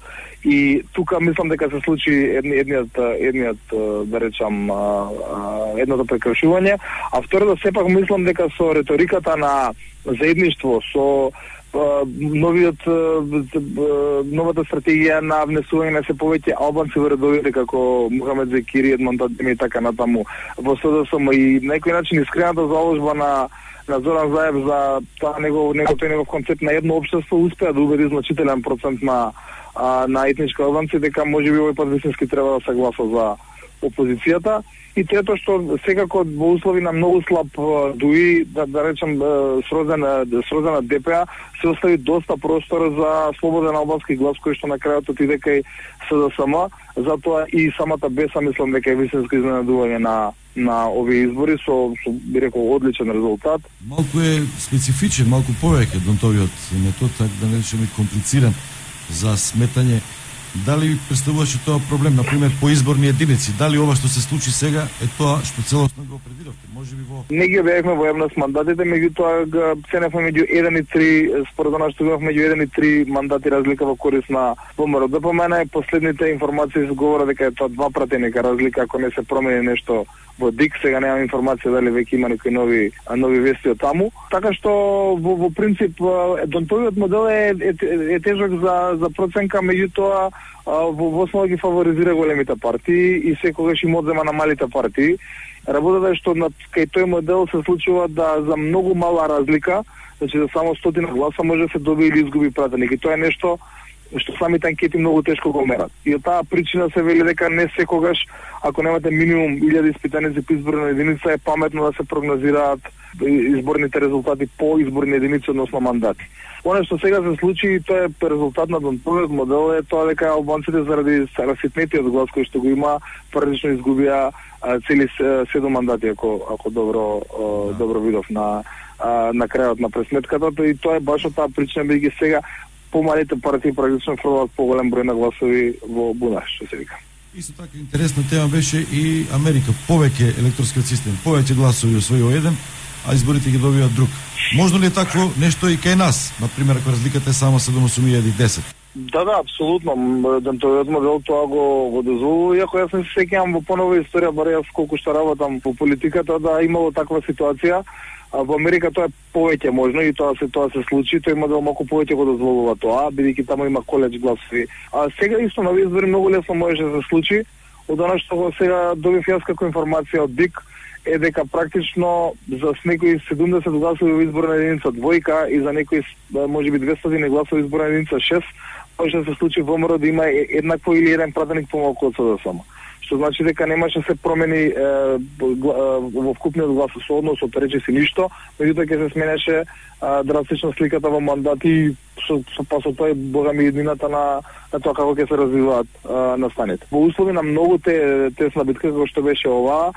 И тука мислам дека се случи едни, едниот едниот да речам едното прекршување, а второто сепак мислам дека со риториката на заедништво, со новиот новата стратегија на внесување на се повеќе албанци во редовите како Мухамед Зекири, Едмон Тадеми и така натаму во СДСМ и на некој начин искрената заложба на на Зоран Заев за тоа негов негов тој негов концепт на едно општество успеа да убеди значителен процент на а, на етнички албанци дека можеби овој пат вистински треба да се гласа за опозицијата. И трето што секако во услови на многу слаб Дуи, да, да речем срозена срозена ДПА, се остави доста простор за слободен албански глас кој што на крајот отиде кај СДСМ, затоа и самата Беса мислам дека е вистинско изненадување на на овие избори со, со би рекол одличен резултат. Малку е специфичен, малку повеќе донтовиот метод, така да не речеме комплициран за сметање Дали представуваше тоа проблем, например, по изборни единици? Дали ова што се случи сега е тоа што целосно го предвидовте? Може би во... Не ги објавивме во јавност мандатите, меѓутоа га ценевме меѓу еден и три, според она што имавме меѓу еден и три мандати разлика во корист на ВМРО ДПМН. По мене последните информации се говорат дека е тоа два пратеника разлика, ако не се промени нешто во ДИК, сега немам информација дали веќе има некои нови нови вести од таму. Така што во, во принцип донтовиот модел е, е, е тежок за за проценка, меѓутоа во во основа ги фаворизира големите партии и секогаш им одзема на малите партии. Работата е што на кај тој модел се случува да за многу мала разлика, значи за само стотина гласа може да се добие или изгуби пратеник. И тоа е нешто што самите анкети многу тешко го мерат. И од таа причина се вели дека не секогаш, ако немате минимум илјада испитаници по изборна единица, е паметно да се прогнозираат изборните резултати по изборни единици, односно мандати. Оно што сега се случи, тоа е резултат на донтовиот модел, е тоа дека албанците заради раситнетиот глас кој што го има, прилично изгубија цели седум мандати, ако ако добро да. добро видов на на крајот на пресметката, и тоа е баш од таа причина, бидејќи сега помалите партии практично фрлат поголем број на гласови во бунаш, што се вика. Исто така интересна тема беше и Америка. Повеќе електорскиот систем, повеќе гласови освојува еден, а изборите ги добиваат друг. Можно ли е такво нешто и кај нас? Например, ако разликата е само седум осум десет? Да, да, апсолутно. Донтовиот модел тоа го, го дозволува, иако јас не се сеќавам во понова историја, бар јас колку што работам по политиката, да имало таква ситуација. А во Америка тоа е повеќе можно и тоа се тоа се случи, тој модел малку повеќе го дозволува тоа, бидејќи таму има коледж гласови. А сега исто на избори многу лесно може да се случи. Од она што сега добив јас како информација од ДИК е дека практично за некои седумдесет гласови во изборна единица двојка и за некои можеби двеста гласови во изборна единица шест може да се случи во ВМРО да има еднакво или еден пратеник помалку од СДСМ. Што значи дека немаше се промени е, во вкупниот гласооднос, од рече си ништо, меѓутоа ќе се сменеше е, драстично сликата во мандати, со, со па со тоа и богами еднината на, на тоа како ќе се развиваат е, настаните. Во услови на многу те, тесна битка како што беше ова,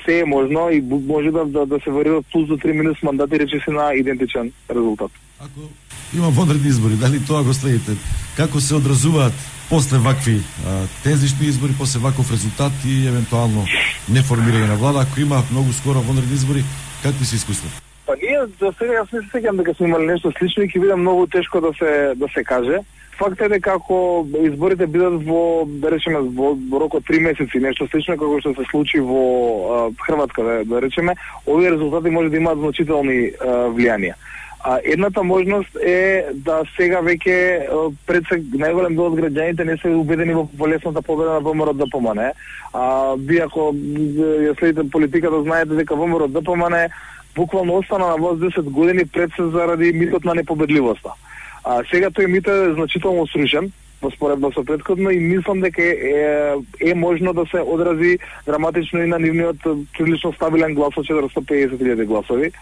се е можно и може да, да, да се варира плюс до три минус мандати, рече си на идентичен резултат. Ако има вонредни избори, дали тоа го следите? Како се одразуваат после вакви а, тензични избори, после ваков резултат и евентуално неформирање на влада, ако има многу скоро вонредни избори, какви се искуства? Па ние за сега јас не се сеќам дека сме имали нешто слично и ќе биде многу тешко да се да се каже. Факт е дека ако изборите бидат во, да речеме, во, во рок од три месеци, нешто слично како што се случи во а, Хрватска, да, да речеме, овие резултати може да имаат значителни а, влијанија. А едната можност е да сега веќе пред се најголем дел од граѓаните не се убедени во полесната победа на ВМРО ДПМН. А вие ако ја следите политиката, знаете дека ВМРО ДПМН буквално остана на власт десет години пред се заради митот на непобедливоста. А сега тој мит е значително срушен во споредба со претходно и мислам дека е, е можно да се одрази драматично и на нивниот прилично стабилен глас од четиристотини и педесет илјади гласови.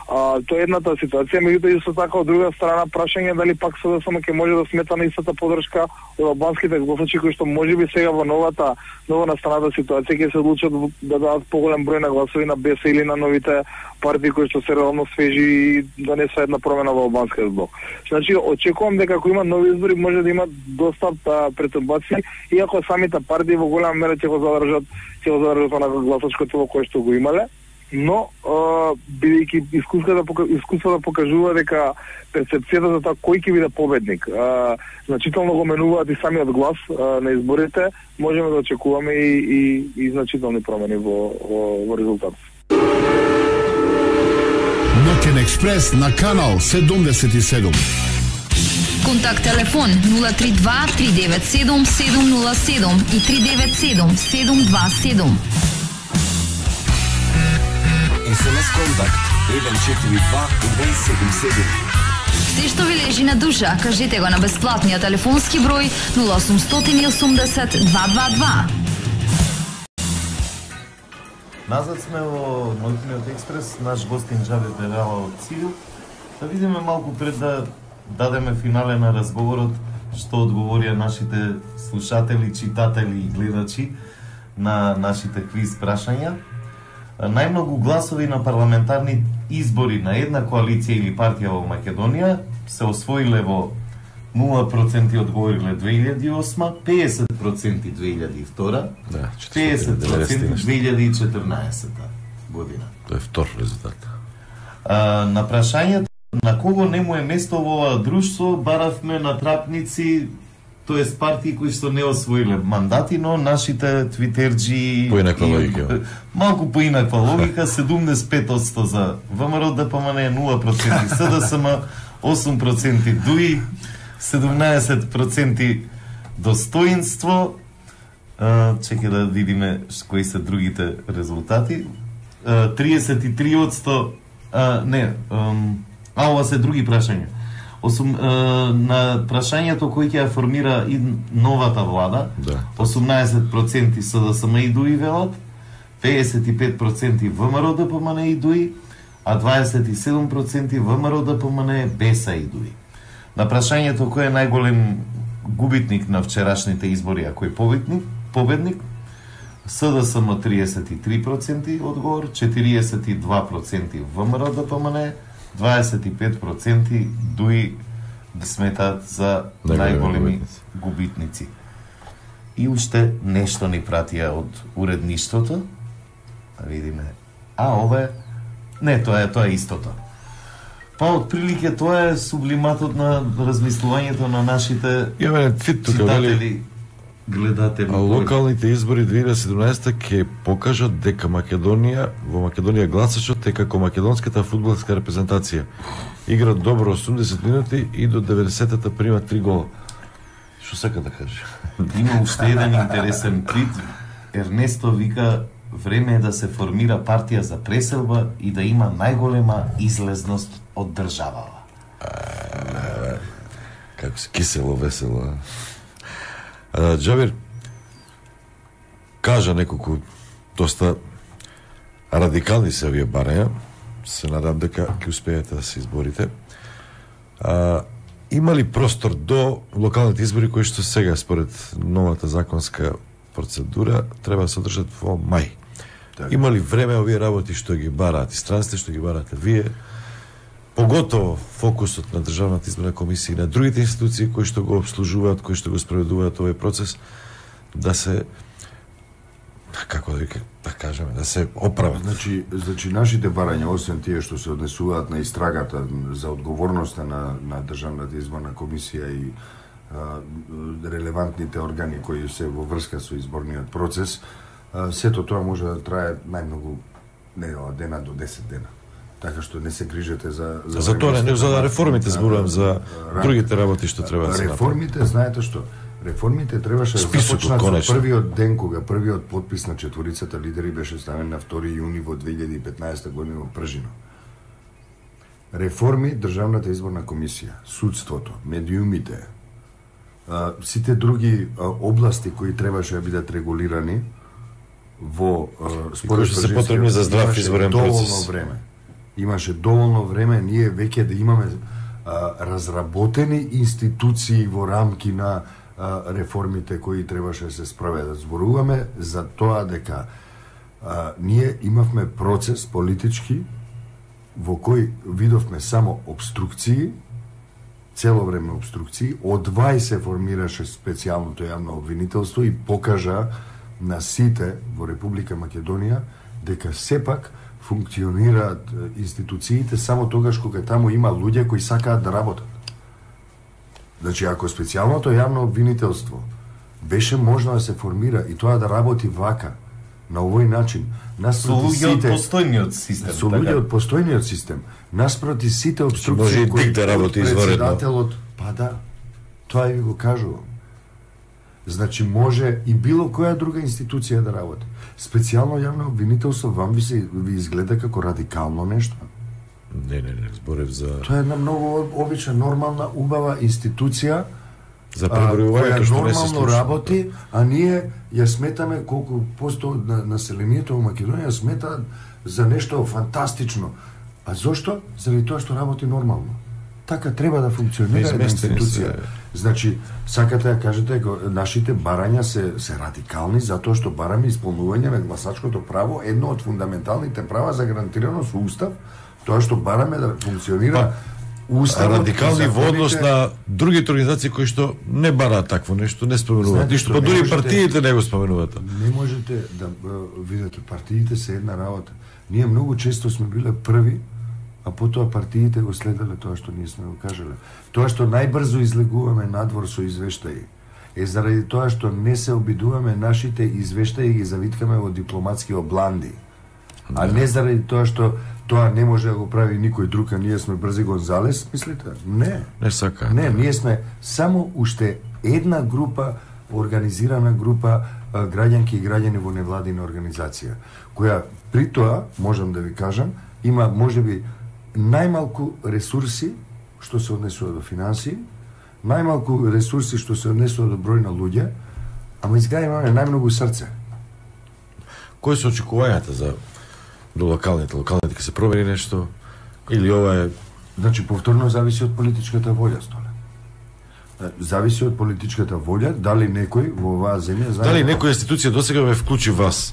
А, тоа е едната ситуација, меѓутоа исто така од друга страна прашање дали пак СДСМ ќе може да смета на истата подршка од албанските гласачи кои што можеби сега во новата нова настаната ситуација ќе се одлучат да дадат поголем број на гласови на БЕС или на новите партии кои што се реално свежи и да не се една промена во албанскиот блок. Значи очекувам дека ако има нови избори може да има доста претурбации, иако самите партии во голема мера ќе го задржат, ќе го задржат онака гласачко тело кое што го имале. Но, бидејќи искуството искуството покажува дека перцепцијата за тоа кој ќе биде победник, а, значително го менуваат и самиот глас а, на изборите, можеме да очекуваме и, и, и значителни промени во, во, во резултатот. Ноќен експрес на канал седумдесет и седум. Контакт телефон нула три два три девет седум седум нула седум и три девет седум седум два седум. ес ем ес контакт еден четири два еден седум седум. Се што ви лежи на душа, кажете го на бесплатниот телефонски број нула осумстотини и осумдесет два два два. Назад сме во Ноќниот експрес, наш гостин Џавет Берала од ЦИУ. Да видиме малку пред да дадеме финале на разговорот што одговорија нашите слушатели, читатели и гледачи на нашите квиз прашања. Најмногу гласови на парламентарни избори на една коалиција или партија во Македонија се освоиле во нула проценти одговориле две илјади и осма, педесет проценти две илјади и втора, да, педесет проценти две илјади и четрнаесетта година. Тоа е втор резултат. А, на прашањето на кого не му е место во ова друштво, баравме на трапници, тоест партии кои што не освоиле мандати, но нашите твитерџи... Поинаква логика. Малку поинаква логика, седумдесет и пет одсто за ВМРО Д П М Н, нула проценти С Д С М, осум проценти Д У И, седумнаесет проценти Достоинство. Чекај да видиме кои се другите резултати. триесет и три одсто... А, не, а ова се други прашања. Осум, е, на прашањето кој ќе ја формира и новата влада, да. осумнаесет проценти С Д С М и Д У И велат, педесет и пет проценти ВМРО Д П М Н и Д У И, а дваесет и седум проценти ВМРО Д П М Н, Беса и Д У И. На прашањето кој е најголем губитник на вчерашните избори, а кој победник, победник, С Д С М триесет и три проценти одговор, четириесет и два проценти ВМРО Д П М Н, дваесет и пет проценти Д У И сметаат за најголеми губитници. И уште нешто ни пратија од уредништвото. Видиме. А, ова е... Не, тоа е, тоа е истото. Па, отприлике, тоа е сублиматот на размислувањето на нашите читатели, гледатели. А локалните избори две илјади и седумнаесетта ќе покажат дека Македонија, во Македонија гласачот е како македонската фудбалска репрезентација. Игра добро осумдесет минути и до деветдесеттата прима три гола. Што сака да каже? Има уште еден интересен твит. Ернесто вика: време е да се формира партија за преселба и да има најголема излезност од државава. Како се кисело, весело. А, Џабир кажа неколку доста радикални се овие барања. Се надам дека ќе успеете да се изборите. А, има ли простор до локалните избори кои што сега според новата законска процедура треба да се одржат во мај? Так. Има ли време овие работи што ги бараат и странствите што ги барате вие? Поготово фокусот на Државната изборна комисија и на другите институции кои што го обслужуваат, кои што го спроведуваат овој процес, да се, како да, да кажеме, да се оправат. Значи, значи нашите барања, освен тие што се однесуваат на истрагата за одговорноста на, на Државната изборна комисија и а, релевантните органи кои се во врска со изборниот процес, а, сето тоа може да трае најмногу недела дена до десет дена. Така што не се грижете за... За, за тоа не, за реформите зборувам, за другите работи што треба да се направи. Реформите, знаете што? Реформите требаше да започнат со првиот ден кога првиот подпис на четворицата лидери беше ставен на втори јуни во две илјади и петнаесетта година во Пржино. Реформи Државната изборна комисија, судството, медиумите, а, сите други а, области кои требаше да бидат регулирани во според се потребни за здрав изборен процес. Време. Имаше доволно време ние веќе да имаме а, разработени институции во рамки на а, реформите кои требаше да се спроведат. Зборуваме за тоа дека а, ние имавме процес политички во кој видовме само обструкции, цело време обструкции, од двај се формираше специјалното јавно обвинителство и покажа на сите во Република Македонија дека сепак функционираат институциите само тогаш кога таму има луѓе кои сакаат да работат. Значи, ако специјалното јавно обвинителство беше можно да се формира и тоа да работи вака, на овој начин, наспроти сите... Со луѓе од постојниот систем. Со луѓе од постојниот систем. Наспроти сите обструкции кои да работи председателот... Па да, тоа ви го кажувам. Значи, може и било која друга институција да работи. Специјално јавно обвинителство вам ви се ви изгледа како радикално нешто? Не, не, не, зборев за... Тоа е една многу обична, нормална, убава институција за пребројувањето што не се случи. Работи, а ние ја сметаме колку посто на населението во Македонија сметаат за нешто фантастично. А зошто? Заради тоа што работи нормално. Така треба да функционира една институција. Значи, сакате да кажете, нашите барања се, се радикални затоа што бараме исполнување на гласачкото право, едно од фундаменталните права загарантирано со устав, тоа што бараме да функционира Уставот радикални во однос на другите организации кои што не бараат такво нешто, не споменуваат ништо, па дури партиите не го споменуваат. Не можете да видите, партиите се една работа. Ние многу често сме биле први, а потоа партиите го следеле тоа што ние сме го кажале. Тоа што најбрзо излегуваме надвор со извештаи е заради тоа што не се обидуваме нашите извештаи ги завиткаме во дипломатски обланди. А не заради тоа што тоа не може да го прави никој друг, а ние сме брзи Гонзалес, мислите? Не. Не сака. Не, ние сме само уште една група, организирана група граѓанки и граѓани во невладина организација, која при тоа, можам да ви кажам, има можеби најмалку ресурси што се однесува до финансии, најмалку ресурси што се однесува до број на луѓе, ама изгледа имаме најмногу срце. Кои се очекувањата за до локалните, локалните ќе се промени нешто или ова е... Значи, повторно зависи од политичката волја, Столе. Зависи од политичката волја, дали некој во оваа земја... Дали некоја институција досега ве вклучи вас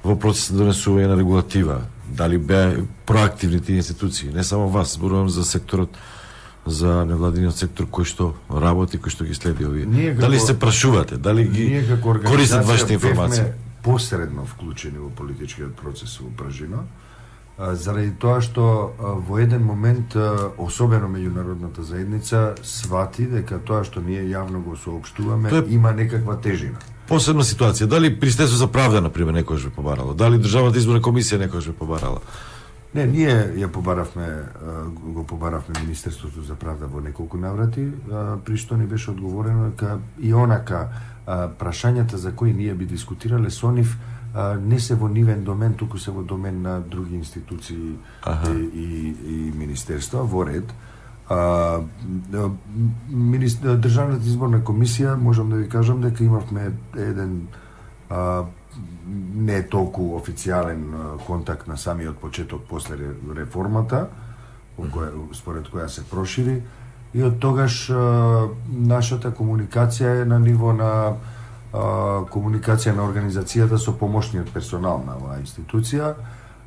во процес на донесување на регулатива? Дали беа проактивни тие институции? Не само вас, зборувам за секторот, за невладиниот сектор кој што работи, кој што ги следи овие. Како, дали се прашувате? Дали ги користат вашите информации? Посредно вклучени во политичкиот процес во Пражино, заради тоа што во еден момент, особено меѓународната заедница, свати дека тоа што ние јавно го соопштуваме е... има некаква тежина. Посебна ситуација. Дали Министерство за правда, например, некојаш ве побарало? Дали Државната изборна комисија некојаш ве побарала? Не, ние ја побаравме, го побаравме Министерството за правда во неколку наврати, при што ни беше одговорено дека и онака прашањата за кои ние би дискутирале со нив не се во нивен домен, туку се во домен на други институции и, и, и министерства, во ред. А, министр, Државната изборна комисија, можам да ви кажам дека имавме еден а, не толку официјален контакт на самиот почеток после реформата, која, според која се прошири, и од тогаш а, нашата комуникација е на ниво на а, комуникација на организацијата со помошниот персонал на оваа институција,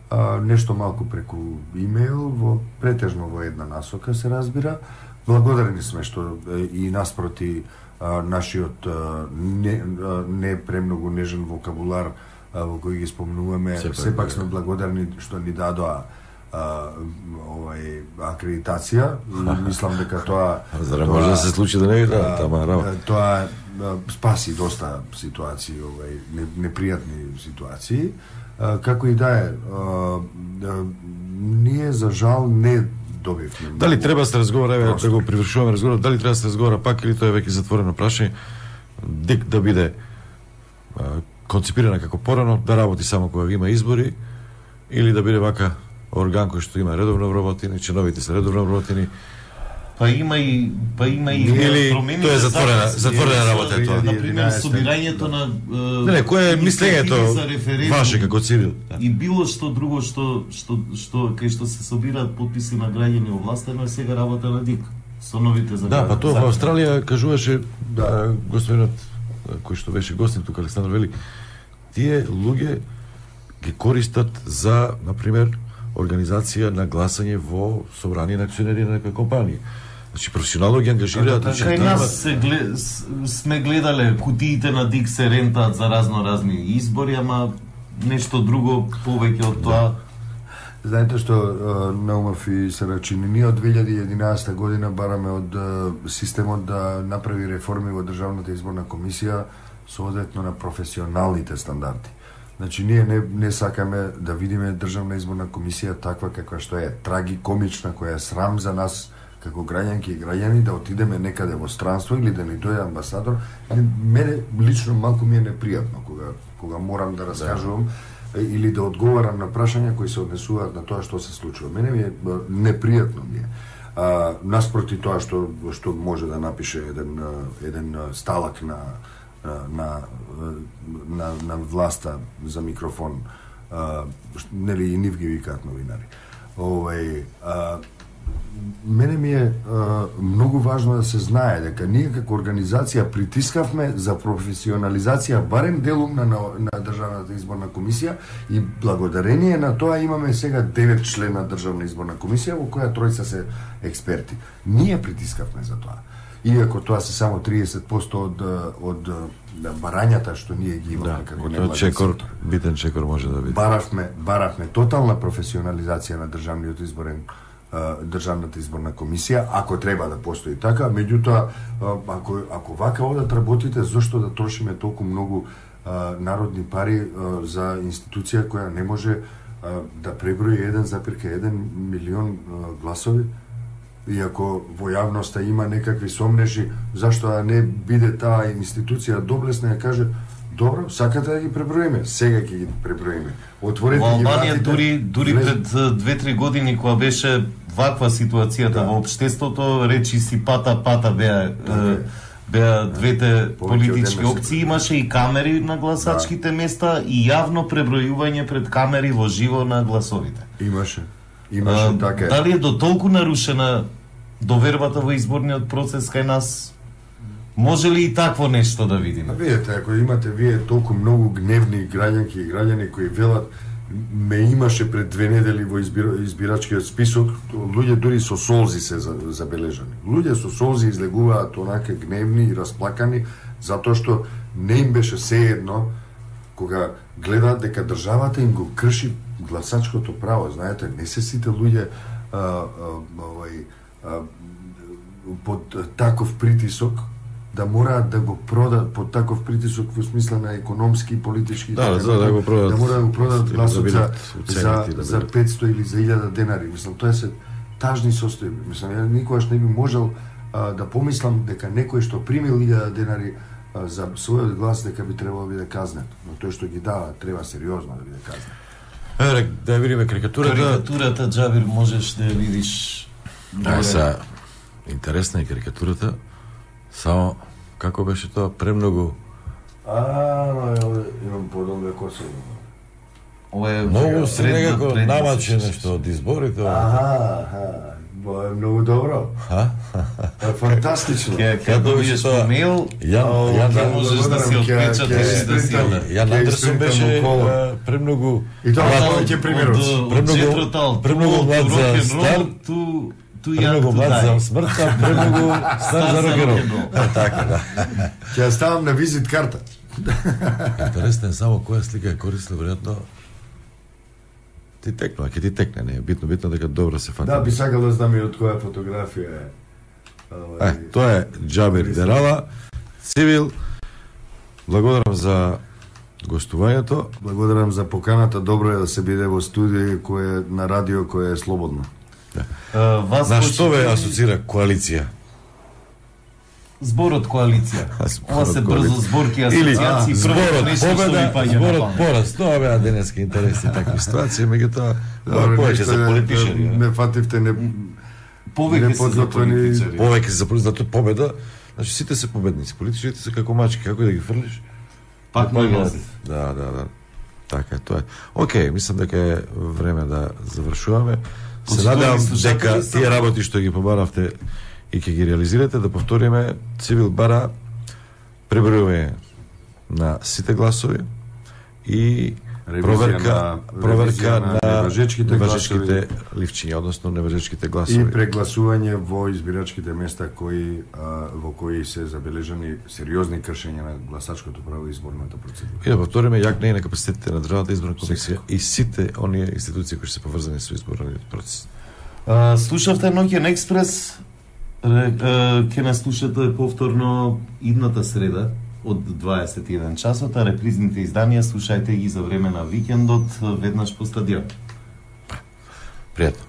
а, нешто малку преку имейл, во претежно во една насока се разбира. Благодарни сме што и наспроти а, нашиот а, не, а, не премногу нежен вокабулар а, во кој ги спомнуваме, сепак, сепак сме благодарни што ни дадоа Uh, овај акредитација и мислам дека тоа за да може да се случи да не да тама работа. Тоа спаси доста ситуации, овај непријатни ситуации. Uh, како и да е, uh, uh, ние за жал не добивме. Дали треба да се разговара, еве да го привршуваме разговорот, дали треба да се разговара пак или тоа е веќе затворено прашање, дек да биде uh, концепирана како порано, да работи само кога има избори или да биде вака орган кој што има редовно вработени, чиновите се редовно вработени. Па има и па има и или тоа е затворена, затворена работа е тоа. На пример, собирањето на Не, не, кое е мислењето ваше како цивил? И било што друго што што што кај што се собираат потписи на граѓани овластено е сега работа на ДИК со новите закони. Да, па тоа во Австралија кажуваше да, господинот кој што беше гостин тука Александар Вели, тие луѓе ги користат за, на пример, организација на гласање во собрание на акционери на некоја компанија. Значи професионално ги ангажираат. Така, кај нас се глед, сме гледале кутиите на ДИК се рентаат за разно разни избори, ама нешто друго повеќе од тоа. Знаете што, Наумов и Сарачини, ние од две илјади и единаесета година бараме од системот да направи реформи во Државната изборна комисија соодветно на професионалните стандарди. Значи, ние не, не сакаме да видиме Државна изборна комисија таква каква што е, трагикомична, која е срам за нас како граѓанки и граѓани да отидеме некаде во странство или да ни дојде амбасадор. Мене лично малку ми е непријатно кога, кога морам да раскажувам да. или да одговарам на прашања кои се однесуваат на тоа што се случува. Мене ми е непријатно ми е. А, наспроти тоа што што може да напише еден еден сталак на на на на власта за микрофон, а, нели и нив ги викаат новинари. Овај, а, мене ми е а, многу важно да се знае дека ние како организација притискавме за професионализација барем делумна на, на Државната изборна комисија и благодарение на тоа имаме сега девет члена Државна изборна комисија во која тројца се експерти. Ние притискавме за тоа. Иако тоа се само триесет проценти од од барањата што ние ги имаме да, како невладен чекор, сектор. битен чекор може да биде. Баравме, баравме тотална професионализација на државниот изборен Државната изборна комисија, ако треба да постои така, меѓутоа ако ако вака одат работите, зошто да трошиме толку многу а, народни пари а, за институција која не може а, да преброи еден запирка еден милион а, гласови? Иако во јавноста има некакви сомнежи, зашто да не биде таа институција доблесна и каже добро, сакате да ги преброиме, сега ќе ги преброиме. Отворете во ги Албанија вратите. дури дури влез... пред две-три години кога беше ваква ситуацијата да. во општеството, речи си пата пата беа да, беа двете Повеќе политички од опции, имаше и камери на гласачките да. места и јавно пребројување пред камери во живо на гласовите. Имаше. Имаше а, така. Дали е до толку нарушена довербата во изборниот процес кај нас? Може ли и такво нешто да видиме? Видете, ако имате вие толку многу гневни граѓанки и граѓани кои велат ме имаше пред две недели во избир... избирачкиот список, луѓе дури со солзи се забележани. Луѓе со солзи излегуваат онака гневни и расплакани затоа што не им беше сеедно кога гледаат дека државата им го крши гласачкото право. Знаете, не се сите луѓе а, а, овај, а, под таков притисок да мораат да го продат под таков притисок во смисла на економски и политички да, да, да, го продат, да мора да го продат гласот да за, за, да за петсто или за илјада денари. Мислам, тоа се тажни состојби. Мислам, ја никогаш не би можел а, да помислам дека некој што примил илјада денари а, за својот глас дека би требало да биде казнет. Но тој што ги дава треба сериозно да биде казнет. Ере, да ја видиме карикатурата. Карикатурата, Џабир, можеш да ја видиш. Да, са интересна е карикатурата. Само, како беше тоа, премногу... А, имам подолга коса. Ова е многу се некако намаче нешто од изборите. Аха, аха. Бо е многу добро. Ха? Фантастично. Ке добиеш по мейл, ја можеш да си отпечаташ и да си... Јан Андерсон беше премногу... И тоа повеќе примерот. Премногу, премногу млад за стар, ту премногу млад за смртта, премногу стар за рок-н-рол. Така, да. Ќе ја ставам на визит карта. Интересно е само која слика е корисна, веројатно ти текна, ќе ти текне, не е битно, битно дека добро се фати. Да, би сакал да знам и од која фотографија е. Е, тоа е Џабир Дерала, Цивил. Благодарам за гостувањето. Благодарам за поканата, добро е да се биде во студио кое на радио кое е слободно. Да. Uh, вас на што ве асоцира коалиција? Зборот коалиција. Ова се брзо зборки, асоциации, зборот победа, зборот пораз. Тоа беа денески интересни такви ситуации, меѓутоа повеќе за политичари. Не фативте не повеќе за политичари. Повеќе за политичари, победа. Значи сите се победници, политичарите се како мачки, како да ги фрлиш? Пак не може. Да, да, да. Така е, тоа е. Океј, мислам дека е време да завршуваме. Се надевам дека тие работи што ги побаравте и ќе ги реализирате, да повториме. Цивил бара пребројување на сите гласови и проверка на, проверка на, на неважечките, неважечките ливчиња, односно неважечките гласови. И прегласување во избирачките места кои а, во кои се забележани сериозни кршења на гласачкото право и изборната процедура. И да повториме јак не е на капацитетите на Државната изборна комисија и сите оние институции кои се поврзани со изборниот процес. А, слушавте Ноќен експрес. Ќе нас слушате повторно идната среда од дваесет и еден часот, а репризните изданија слушајте ги за време на викендот веднаш по стадион. Пријатно.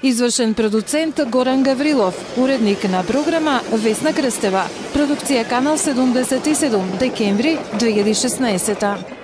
Извршен продуцент Горан Гаврилов, уредник на програма Весна Крстева. Продукција Канал седумдесет и седум, декември две илјади и шеснаесета.